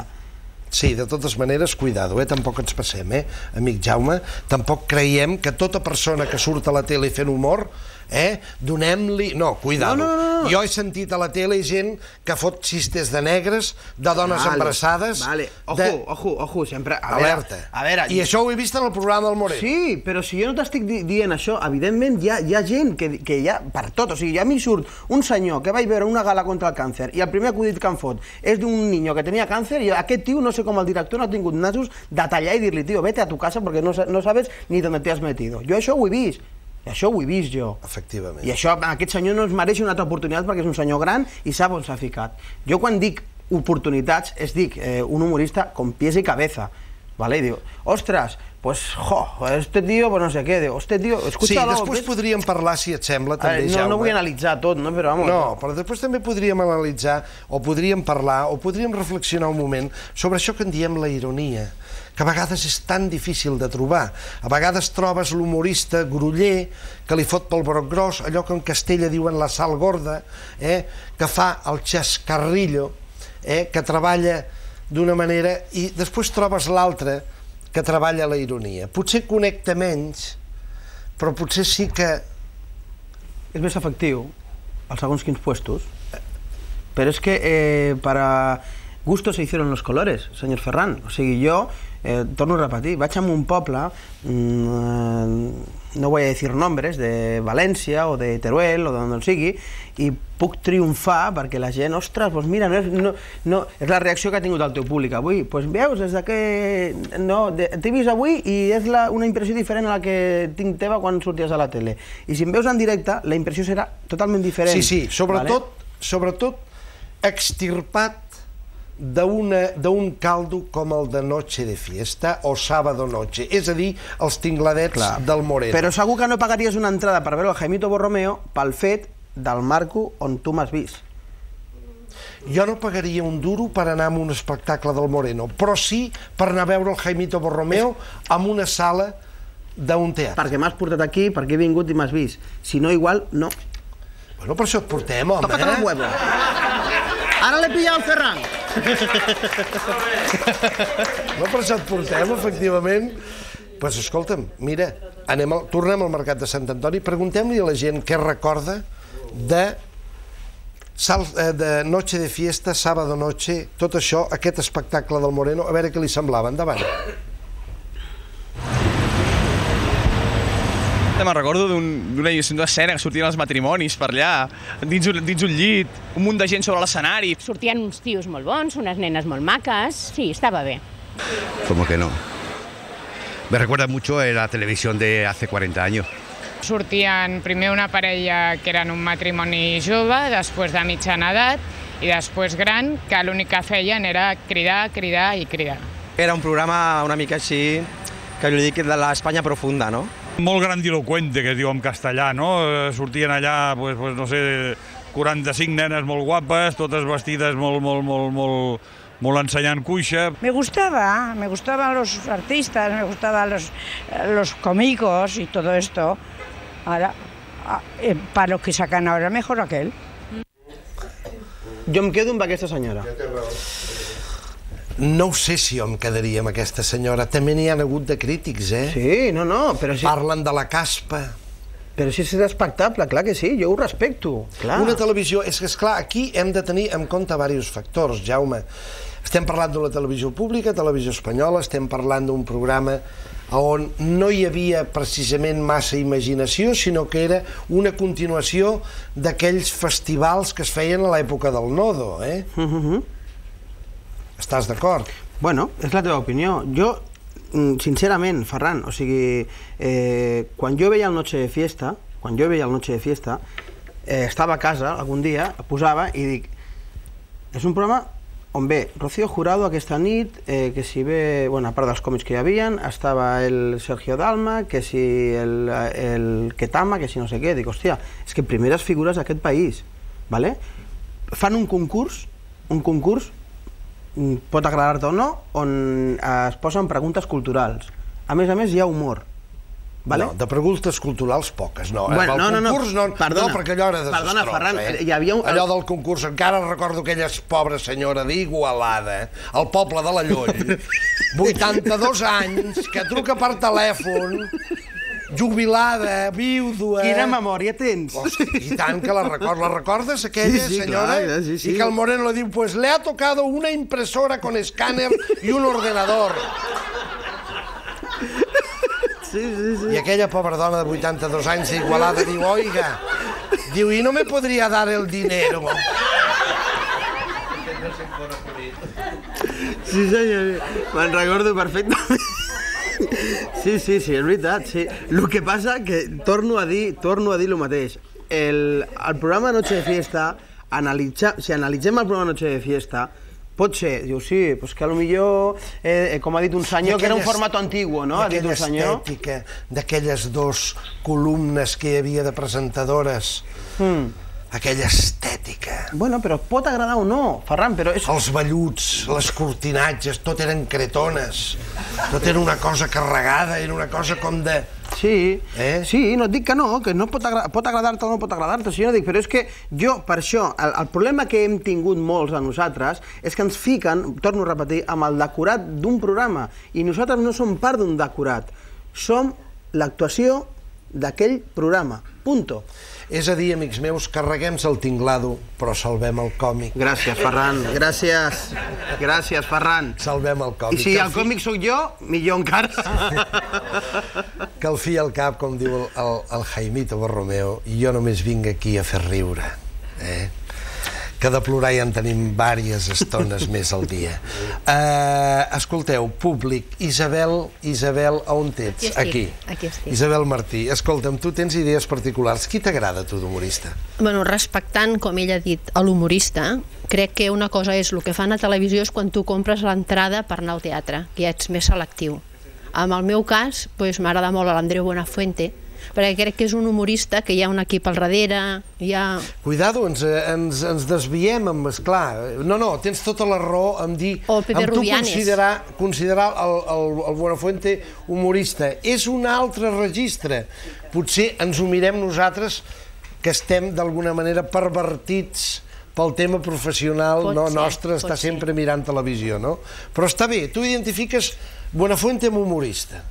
A: Sí, de totes maneres, cuidado, tampoc ens passem, amic Jaume, tampoc creiem que tota persona que surt a la tele fent humor, donem-li... No, cuidado. Jo he sentit a la tele gent que fot xistes de negres, de dones embarassades...
D: Vale, ojo, sempre...
A: Alerta. I això ho he vist en el programa del Moreno.
D: Sí, però si jo no t'estic dient això, evidentment hi ha gent que hi ha per tot. O sigui, a mi surt un senyor que vaig veure una gala contra el càncer i el primer acudit que em fot és d'un niño que tenia càncer i aquest tio, no sé com el director no ha tingut nassos de tallar i dir-li, tio, vete a tu casa perquè no sabes ni d'on te has metido. Jo això ho he vist. Això ho he vist jo.
A: Efectivament.
D: I això, aquest senyor no es mereix una altra oportunitat perquè és un senyor gran i sap on s'ha ficat. Jo quan dic oportunitats, dic un humorista con pies i cabeza. ¿vale? Y digo, ostras, pues, este tío, pues no sé qué, digo, este tío, escúchalo.
A: Sí, després podríem parlar, si et sembla, també, Jaume.
D: No vull analitzar tot, no? Però vamos.
A: No, però després també podríem analitzar, o podríem parlar, o podríem reflexionar un moment sobre això que en diem la ironia, que a vegades és tan difícil de trobar. A vegades trobes l'humorista groller que li fot pel broc gros, allò que en Castella diuen la sal gorda, que fa el xascarrillo, que treballa d'una manera, i després trobes l'altre que treballa la ironia. Potser connecta menys, però potser sí que...
D: És més efectiu, als segons quins puestos, però és que para gusto se hicieron los colores, senyor Ferran. O sigui, jo, torno a repetir, vaig a un poble, no voy a decir nombres, de València o de Teruel o d'on sigui, i puc triomfar perquè la gent, ostres, doncs mira, és la reacció que ha tingut el teu públic avui. Doncs veus, des que t'he vist avui i és una impressió diferent a la que tinc teva quan sorties a la tele. I si em veus en directe, la impressió serà totalment diferent.
A: Sí, sobretot extirpat d'un caldo com el de Noche de Fiesta o Sábado Noche, és a dir, els tingladets del Moreno.
D: Però segur que no pagaries una entrada per veure el Jaimito Borromeo pel fet del marco on tu m'has vist.
A: Jo no pagaria un duro per anar a un espectacle del Moreno, però sí per anar a veure el Jaimito Borromeo en una sala d'un teatre.
D: Perquè m'has portat aquí, perquè he vingut i m'has vist. Si no, igual, no.
A: Bueno, per això et portem, home.
D: Tócate el huevo. Ara l'he pillat el Ferran.
A: No, per això et portem, efectivament. Doncs escolta'm, mira, tornem al Mercat de Sant Antoni, preguntem-li a la gent què recorda de Noche de Fiesta, Sábado Noche, tot això, aquest espectacle del Moreno, a veure què li semblava. Endavant.
N: Me'n recordo d'una escena que sortien els matrimonis per allà, dins un llit, un munt de gent sobre l'escenari.
K: Sortien uns tios molt bons, unes nenes molt maques, sí, estava bé.
P: ¿Cómo que no? Me recuerda mucho a la televisión de hace 40 años.
Q: Sortien primer una parella que eren un matrimoni jove, després de mitjana edat i després gran, que l'únic que feien era cridar, cridar i cridar.
R: Era un programa una mica així, que jo dic de l'Espanya profunda, no?
T: Molt grandiloquente, que es diu en castellà, no? Sortien allà, no sé, 45 nenes molt guapes, totes vestides molt ensenyant cuixa.
Z: Me gustaban los artistas, me gustaban los cómicos y todo esto. Ahora, para lo que sacan ahora, mejor aquel.
D: Jo em quedo amb aquesta senyora.
A: No ho sé si jo em quedaria amb aquesta senyora. També n'hi ha hagut de crítics, eh?
D: Sí, no, però si...
A: Parlen de la caspa.
D: Però si és respectable, clar que sí, jo ho respecto.
A: Una televisió... És que, esclar, aquí hem de tenir en compte diversos factors, Jaume. Estem parlant d'una televisió pública, televisió espanyola, estem parlant d'un programa on no hi havia precisament massa imaginació, sinó que era una continuació d'aquells festivals que es feien a l'època del Nodo, eh? Estàs d'acord?
D: Bueno, és la teva opinió. Jo, sincerament, Ferran, o sigui, quan jo veia el Noche de Fiesta, estava a casa algun dia, posava i dic, és un programa on ve Rocío Jurado aquesta nit, que si ve, bueno, a part dels còmics que hi havia, estava el Sergio Dalma, que si el Ketama, que si no sé què, dic, hòstia, és que primeres figures d'aquest país, ¿vale? Fan un concurs, pot agradar-te o no, on es posen preguntes culturals. A més, hi ha humor.
A: No, de preguntes culturals poques, no.
D: No,
A: perdona, perquè allò era desastrós.
D: Perdona, Ferran, hi havia...
A: Allò del concurs, encara recordo aquella pobra senyora d'Igualada, al poble de la Lloll, 82 anys, que truca per telèfon, jubilada, vídua...
D: Quina memòria tens?
A: I tant que la recordo. La recordes, aquella senyora? I que el Moreno le diu, pues le ha tocado una impresora con escáner y un ordenador. I aquella pobra dona de 82 anys d'Igualada diu, oiga, diu, i no me podria dar el dinero.
D: Sí, senyor, me'n recordo perfectament. Sí, és veritat, sí. El que passa que torno a dir el mateix. El programa Noche de Fiesta, si analitzem el programa Noche de Fiesta, Pot ser, diu, sí, pues que potser, com ha dit un senyor, que era un format antiguo, no?
A: Aquella estètica d'aquelles 2 columnes que hi havia de presentadores, aquella estètica.
D: Bueno, però pot agradar o no, Ferran, però és...
A: Els velluts, les cortinatges, tot eren cretones, tot era una cosa carregada, era una cosa com de...
D: Sí, no et dic que no pot agradar-te o no pot agradar-te, sinó dic, però és que jo, per això, el problema que hem tingut molts de nosaltres és que ens fiquen, torno a repetir, amb el decorat d'un programa, i nosaltres no som part d'un decorat, som l'actuació d'aquell programa, punto.
A: És a dir, amics meus, carreguem-se el tinglado, però salvem el còmic.
D: Gràcies, Ferran, gràcies. Gràcies, Ferran.
A: Salvem el còmic.
D: I si el còmic sóc jo, millor encara.
A: Que al fi i al cap, com diu el Jaimito Borromeo, jo només vinc aquí a fer riure. Que de plorar ja en tenim diverses estones més al dia. Escolteu, públic, Isabel, on ets? Aquí estic. Isabel Martí, escolta'm, tu tens idees particulars. Qui t'agrada, tu, d'humorista?
B: Bueno, respectant, com ell ha dit, a l'humorista, crec que una cosa és el que fan a televisió és quan tu compres l'entrada per anar al teatre, que ja ets més selectiu. En el meu cas, m'agrada molt l'Andreu Buenafuente, perquè crec que és un humorista que hi ha un equip al darrere, hi ha...
A: Cuidado, ens desviem, esclar. No, tens tota la raó en dir...
B: O Pepe Rubianes.
A: Considerar el Buenafuente humorista. És un altre registre. Potser ens ho mirem nosaltres, que estem d'alguna manera pervertits pel tema professional nostre, està sempre mirant televisió, no? Però està bé, tu identifiques Buenafuente amb humorista.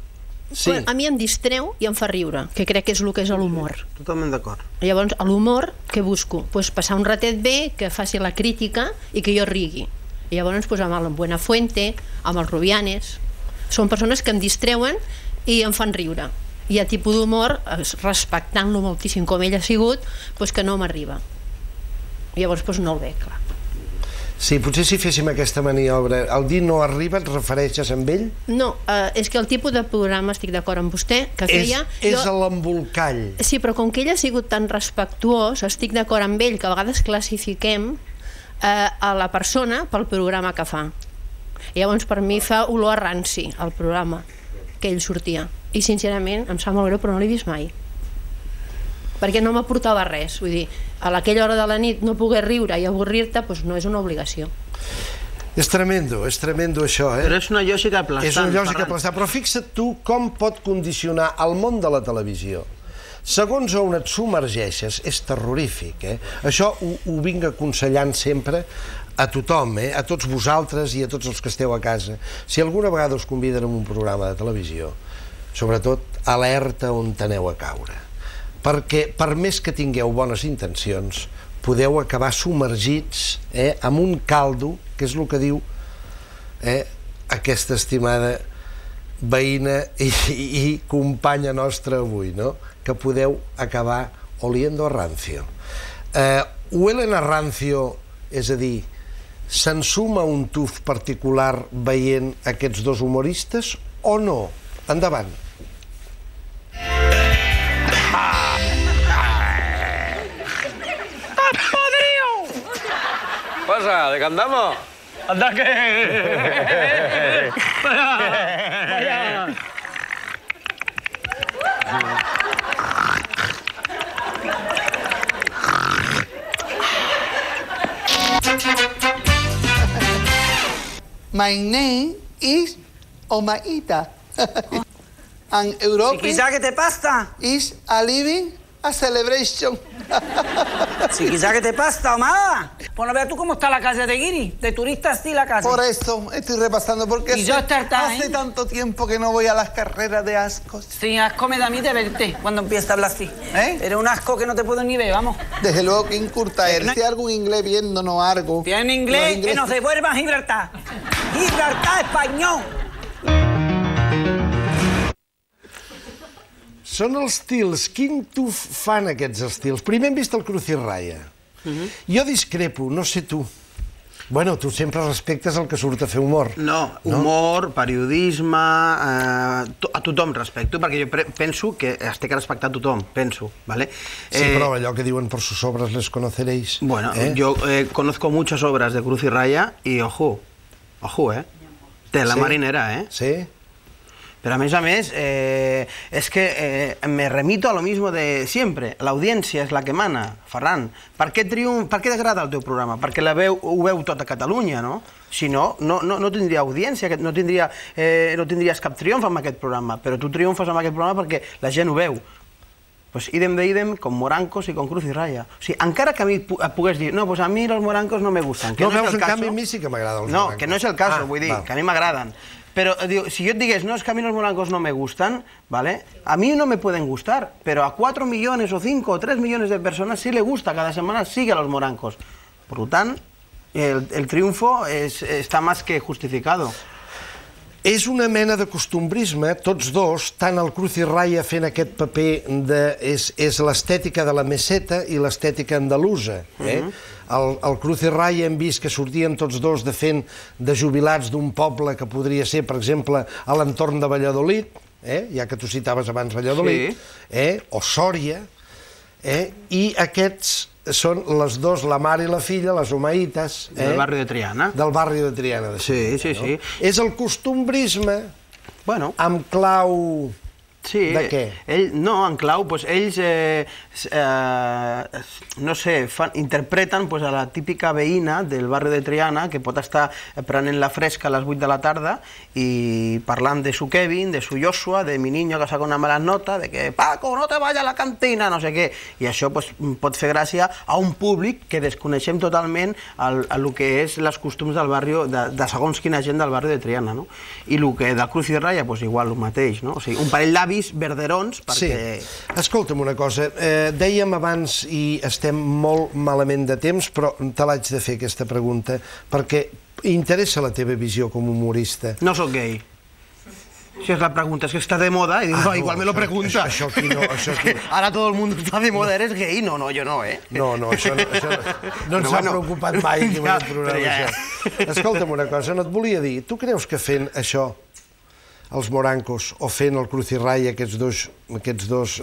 A: Sí.
B: A mi em distreu i em fa riure, que crec que és el que és l'humor.
D: Totalment d'acord.
B: Llavors, a l'humor, què busco? Passar un ratet bé, que faci la crítica i que jo rigui. I llavors amb el Buenafuente, amb els Rubianes, són persones que em distreuen i em fan riure. Hi ha tipus d'humor, respectant-lo moltíssim com ell ha sigut, que no m'arriba. Llavors no el veig, clar.
A: Sí, potser si féssim aquesta maniobra, el dir no arriba, et refereixes amb ell?
B: No, és que el tipus de programa, estic d'acord amb vostè, que feia...
A: És l'embolcall.
B: Sí, però com que ell ha sigut tan respectuós, estic d'acord amb ell, que a vegades classifiquem a la persona pel programa que fa. I llavors per mi fa olor a ranci, el programa, que ell sortia. I sincerament em sap molt greu, però no l'he vist mai. Perquè no m'aportava res, vull dir, a aquella hora de la nit no poder riure i avorrir-te no és una obligació.
A: És tremendo això,
D: Però és una lògica aplastant.
A: És una lògica aplastant, però fixa't tu com pot condicionar el món de la televisió. Segons on et submergeixes, és terrorífic, Això ho vinc aconsellant sempre a tothom, a tots vosaltres i a tots els que esteu a casa. Si alguna vegada us conviden a un programa de televisió, sobretot alerta on aneu a caure. Perquè per més que tingueu bones intencions, podeu acabar submergits en un caldo, que és el que diu aquesta estimada veïna i companya nostra avui, que podeu acabar oliendo a rancio. Huelen a rancio, és a dir, s'ensuma un tuf particular veient aquests dos humoristes o no? Endavant.
F: Pasa, ¿de qué andamos?
S: ¡Anda que!
F: Vaya.
U: My name is Omaita. And Europe
S: ¿Qué te pasa?
U: is a living a celebration.
S: Si quizá que te pasa, Omar. Pues no veas tú cómo está la calle de Guiri. De turistas sí la calle.
U: Por eso estoy repasando, porque
S: Y yo
U: hace tanto tiempo que no voy a las carreras de ascos.
S: Sí, asco me da a mí de verte cuando empieza a hablar así. Eres un asco que no te puedo ni ver, vamos.
U: Desde luego que incurta eres. Si algo inglés viéndonos algo.
S: Tiene inglés que nos devuelva a Gibraltar. Gibraltar español.
A: Són els estils. Quin tuf fan aquests estils? Primer hem vist el Cruz i Raya. Jo discrepo, no sé tu. Bueno, tu sempre respectes el que surt a fer humor.
D: No, humor, periodisme, a tothom respecto, perquè jo penso que es té que respectar a tothom, penso, ¿vale?
A: Sí, però allò que diuen por sus obras les conoceréis.
D: Bueno, yo conozco muchas obras de Cruz y Raya y ojo, de la marinera,
A: Sí.
D: Pero a més, es que me remito a lo mismo de siempre. La audiencia es la que mana, Ferran. Per què t'agrada el teu programa? Perquè ho veu tota Catalunya, no? Si no, no tindria audiència, no tindries cap triomf amb aquest programa, però tu triomfes amb aquest programa perquè la gent ho veu. Pues idem de idem con Morancos y con Cruz y Raya. O sigui, encara que a mi et pogués dir, no, pues a mi los Morancos no me gustan.
A: No, veus, en canvi, a mi sí que m'agraden els Morancos.
D: No, que no és el cas, vull dir, que a mi m'agraden. Pero si yo te digues, no, es que a mí los morancos no me gustan, ¿vale? A mí no me pueden gustar, pero a 4 millones o 5 o 3 millones de personas sí le gusta, cada semana sigue a los morancos. Por lo tanto, el triunfo está más que justificado.
A: És una mena de costumbrisme, tots dos, tant el Cruz i Raya fent aquest paper és l'estètica de la meseta i l'estètica andalusa. El Cruz i Raya hem vist que sortien tots dos de jubilats d'un poble que podria ser, per exemple, a l'entorn de Valladolid, ja que tu citaves abans Valladolid, o Sòria, i aquests són les dos, la mare i la filla, les Omaites.
D: Del barri de Triana.
A: Del barri de Triana.
D: Sí.
A: És el costumbrisme amb clau de què?
D: No, en clau, ells, no sé, interpreten a la típica veïna del barri de Triana que pot estar prenent la fresca a les 8 de la tarda i parlant de su Kevin, de su Joshua, de mi niño que saca una mala nota, de que Paco, no te vayas a la cantina, no sé què. I això pot fer gràcia a un públic que desconeixem totalment el que és els costums del barri, de segons quina gent del barri de Triana. I el que del Cruz i Raya, igual el mateix. O sigui, un parell d'avis verderons perquè...
A: Sí. Escolta'm una cosa, dèiem abans i estem molt malament de temps, però te l'haig de fer aquesta pregunta perquè interessa la teva visió com a humorista.
D: No soc gay. Si és la pregunta, és que està de moda i dic, no, igual me lo pregunta.
A: Això aquí no.
D: Ara tot el món està de moda, eres gay? No, jo no,
A: No, això no ens ha preocupat mai en aquest programa, això. Escolta'm una cosa, no et volia dir, tu creus que fent això, els Morancos, o fent el Cruz i Raya, aquests dos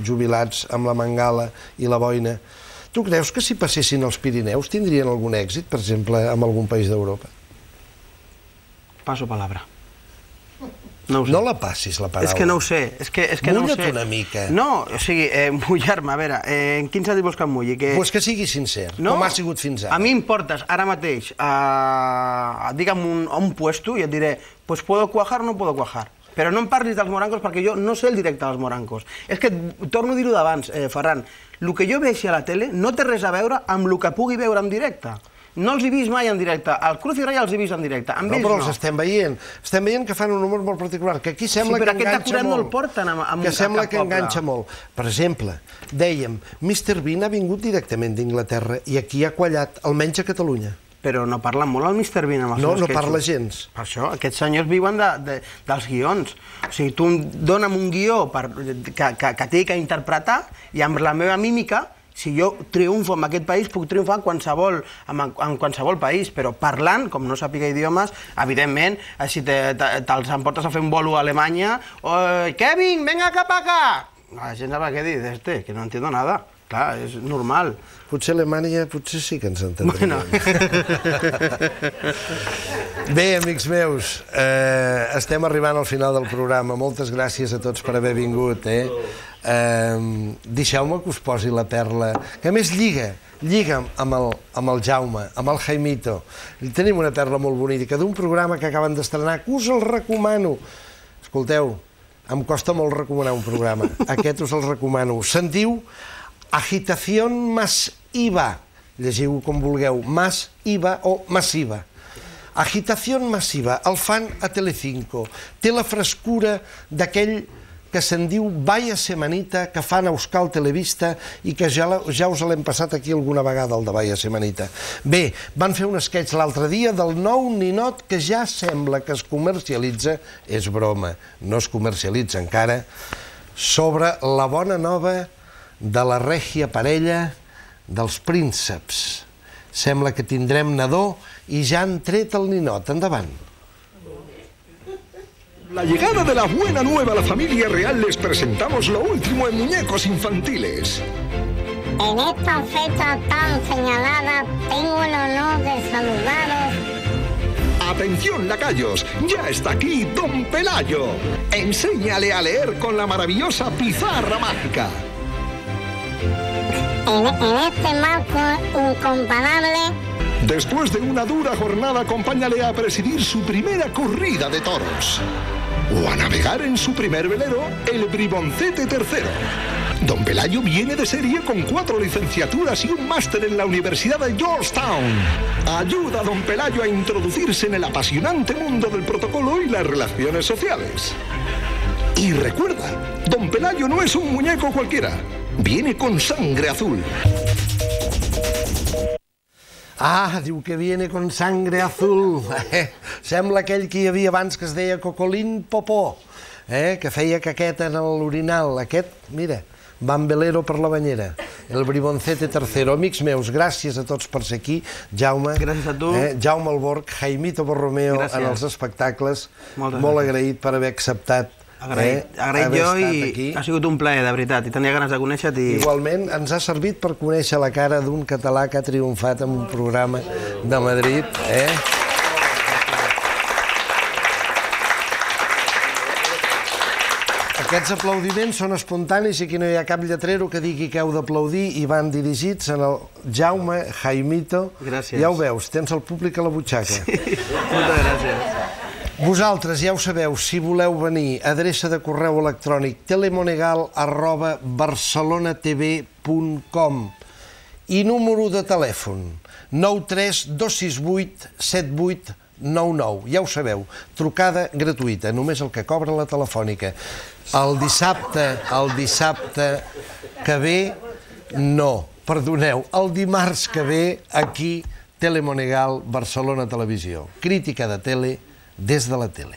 A: jubilats amb la mangala i la boina, tu creus que si passessin als Pirineus tindrien algun èxit, per exemple, en algun país d'Europa?
D: Paso palabra.
A: No la passis, la paraula.
D: És que no ho sé.
A: Mulla't una mica.
D: No, o sigui, mullar-me, a veure, en quin sentit vols que em mulli?
A: Pues que sigui sincer, com ha sigut fins ara.
D: A mi em portes ara mateix, digue'm, a un puesto i et diré, pues puedo cuajar o no puedo cuajar. Però no em parlis dels Morancos perquè jo no sé el directe dels Morancos. És que, torno a dir-ho d'abans, Ferran, el que jo veixi a la tele no té res a veure amb el que pugui veure en directe. No els he vist mai en directe. El Cruz i Raya els he vist en directe. Amb ells no.
A: Però els estem veient. Estem veient que fan un humor molt particular, que aquí sembla que enganxa molt.
D: Sí, però aquest acurat no el porten a cap poble.
A: Que sembla que enganxa molt. Per exemple, dèiem, Mr. Bean ha vingut directament d'Inglaterra i aquí ha quallat, almenys a Catalunya.
D: Però no parlen molt el Mr. Bean amb els seus
A: sketches. No parla gens.
D: Per això, aquests senyors viuen dels guions. O sigui, tu dona'm un guió que té que interpretar i amb la meva mímica, si jo triomfo en aquest país, puc triomfar en qualsevol país, però parlant, com no sàpiga idiomes, evidentment, si te'ls emportes a fer un bolo a Alemanya, Kevin, venga cap acá! La gent sabrà què dir, que no entiendo nada. Clar, és normal.
A: Potser a Alemanya sí que ens entendrem. Bé, amics meus, estem arribant al final del programa. Moltes gràcies a tots per haver vingut. Deixeu-me que us posi la perla, que a més lliga amb el Jaume, amb el Jaimito. Tenim una perla molt bonica d'un programa que acaben d'estrenar, que us el recomano. Escolteu, em costa molt recomanar un programa. Aquest us el recomano. Se'n diu Agitación Masiva. Llegiu com vulgueu, Masiva o Massiva. Agitación Masiva, el fan a Telecinco. Té la frescura d'aquell que se'n diu Vaya Semanita, que fan a Euskal Televista i que ja us l'hem passat aquí alguna vegada, el de Vaya Semanita. Bé, van fer un sketch l'altre dia del nou ninot que ja sembla que es comercialitza, és broma, no es comercialitza encara, sobre la bona nova de la règia parella dels prínceps. Sembla que tindrem nadó i ja han tret el ninot. Endavant.
C: La llegada de la buena nueva a la familia real les presentamos lo último en muñecos infantiles.
E: En esta fecha tan señalada tengo el honor de saludaros.
C: Atención, lacayos, ya está aquí Don Pelayo. Enséñale a leer con la maravillosa pizarra mágica.
E: En este marco incomparable.
C: Después de una dura jornada, acompáñale a presidir su primera corrida de toros. O a navegar en su primer velero, el Briboncete III. Don Pelayo viene de serie con 4 licenciaturas y un máster en la Universidad de Georgetown. Ayuda a Don Pelayo a introducirse en el apasionante mundo del protocolo y las relaciones sociales. Y recuerda, Don Pelayo no es un muñeco cualquiera. Viene con sangre azul.
A: Ah, diu que viene con sangre azul. Sembla aquell que hi havia abans que es deia Cocolín Popó, que feia caqueta en l'orinal. Aquest, mira, van velero per la banyera. El Briboncete III. Amics meus, gràcies a tots per ser aquí. Jaume.
D: Gràcies a tu.
A: Jaume Alborg, Jaimito Borromeo en els espectacles. Molt agraït per haver acceptat.
D: Agraït jo i ha sigut un plaer, de veritat, i tenia ganes de conèixer-te.
A: Igualment, ens ha servit per conèixer la cara d'un català que ha triomfat en un programa de Madrid. Aquests aplaudiments són espontanis i aquí no hi ha cap lletrero que digui que heu d'aplaudir i van dirigits en el Jaume, Jaimito.
D: Gràcies.
A: Ja ho veus, tens el públic a la butxaca.
D: Moltes gràcies.
A: Vosaltres ja ho sabeu, si voleu venir, adreça de correu electrònic telemonegal@barcelonatv.com i número de telèfon 93268 7899. Ja ho sabeu, trucada gratuïta, només el que cobra la telefònica. El dissabte que ve, no, perdoneu, el dimarts que ve, aquí, Telemonegal, Barcelona Televisió. Crítica de tele des de la tele.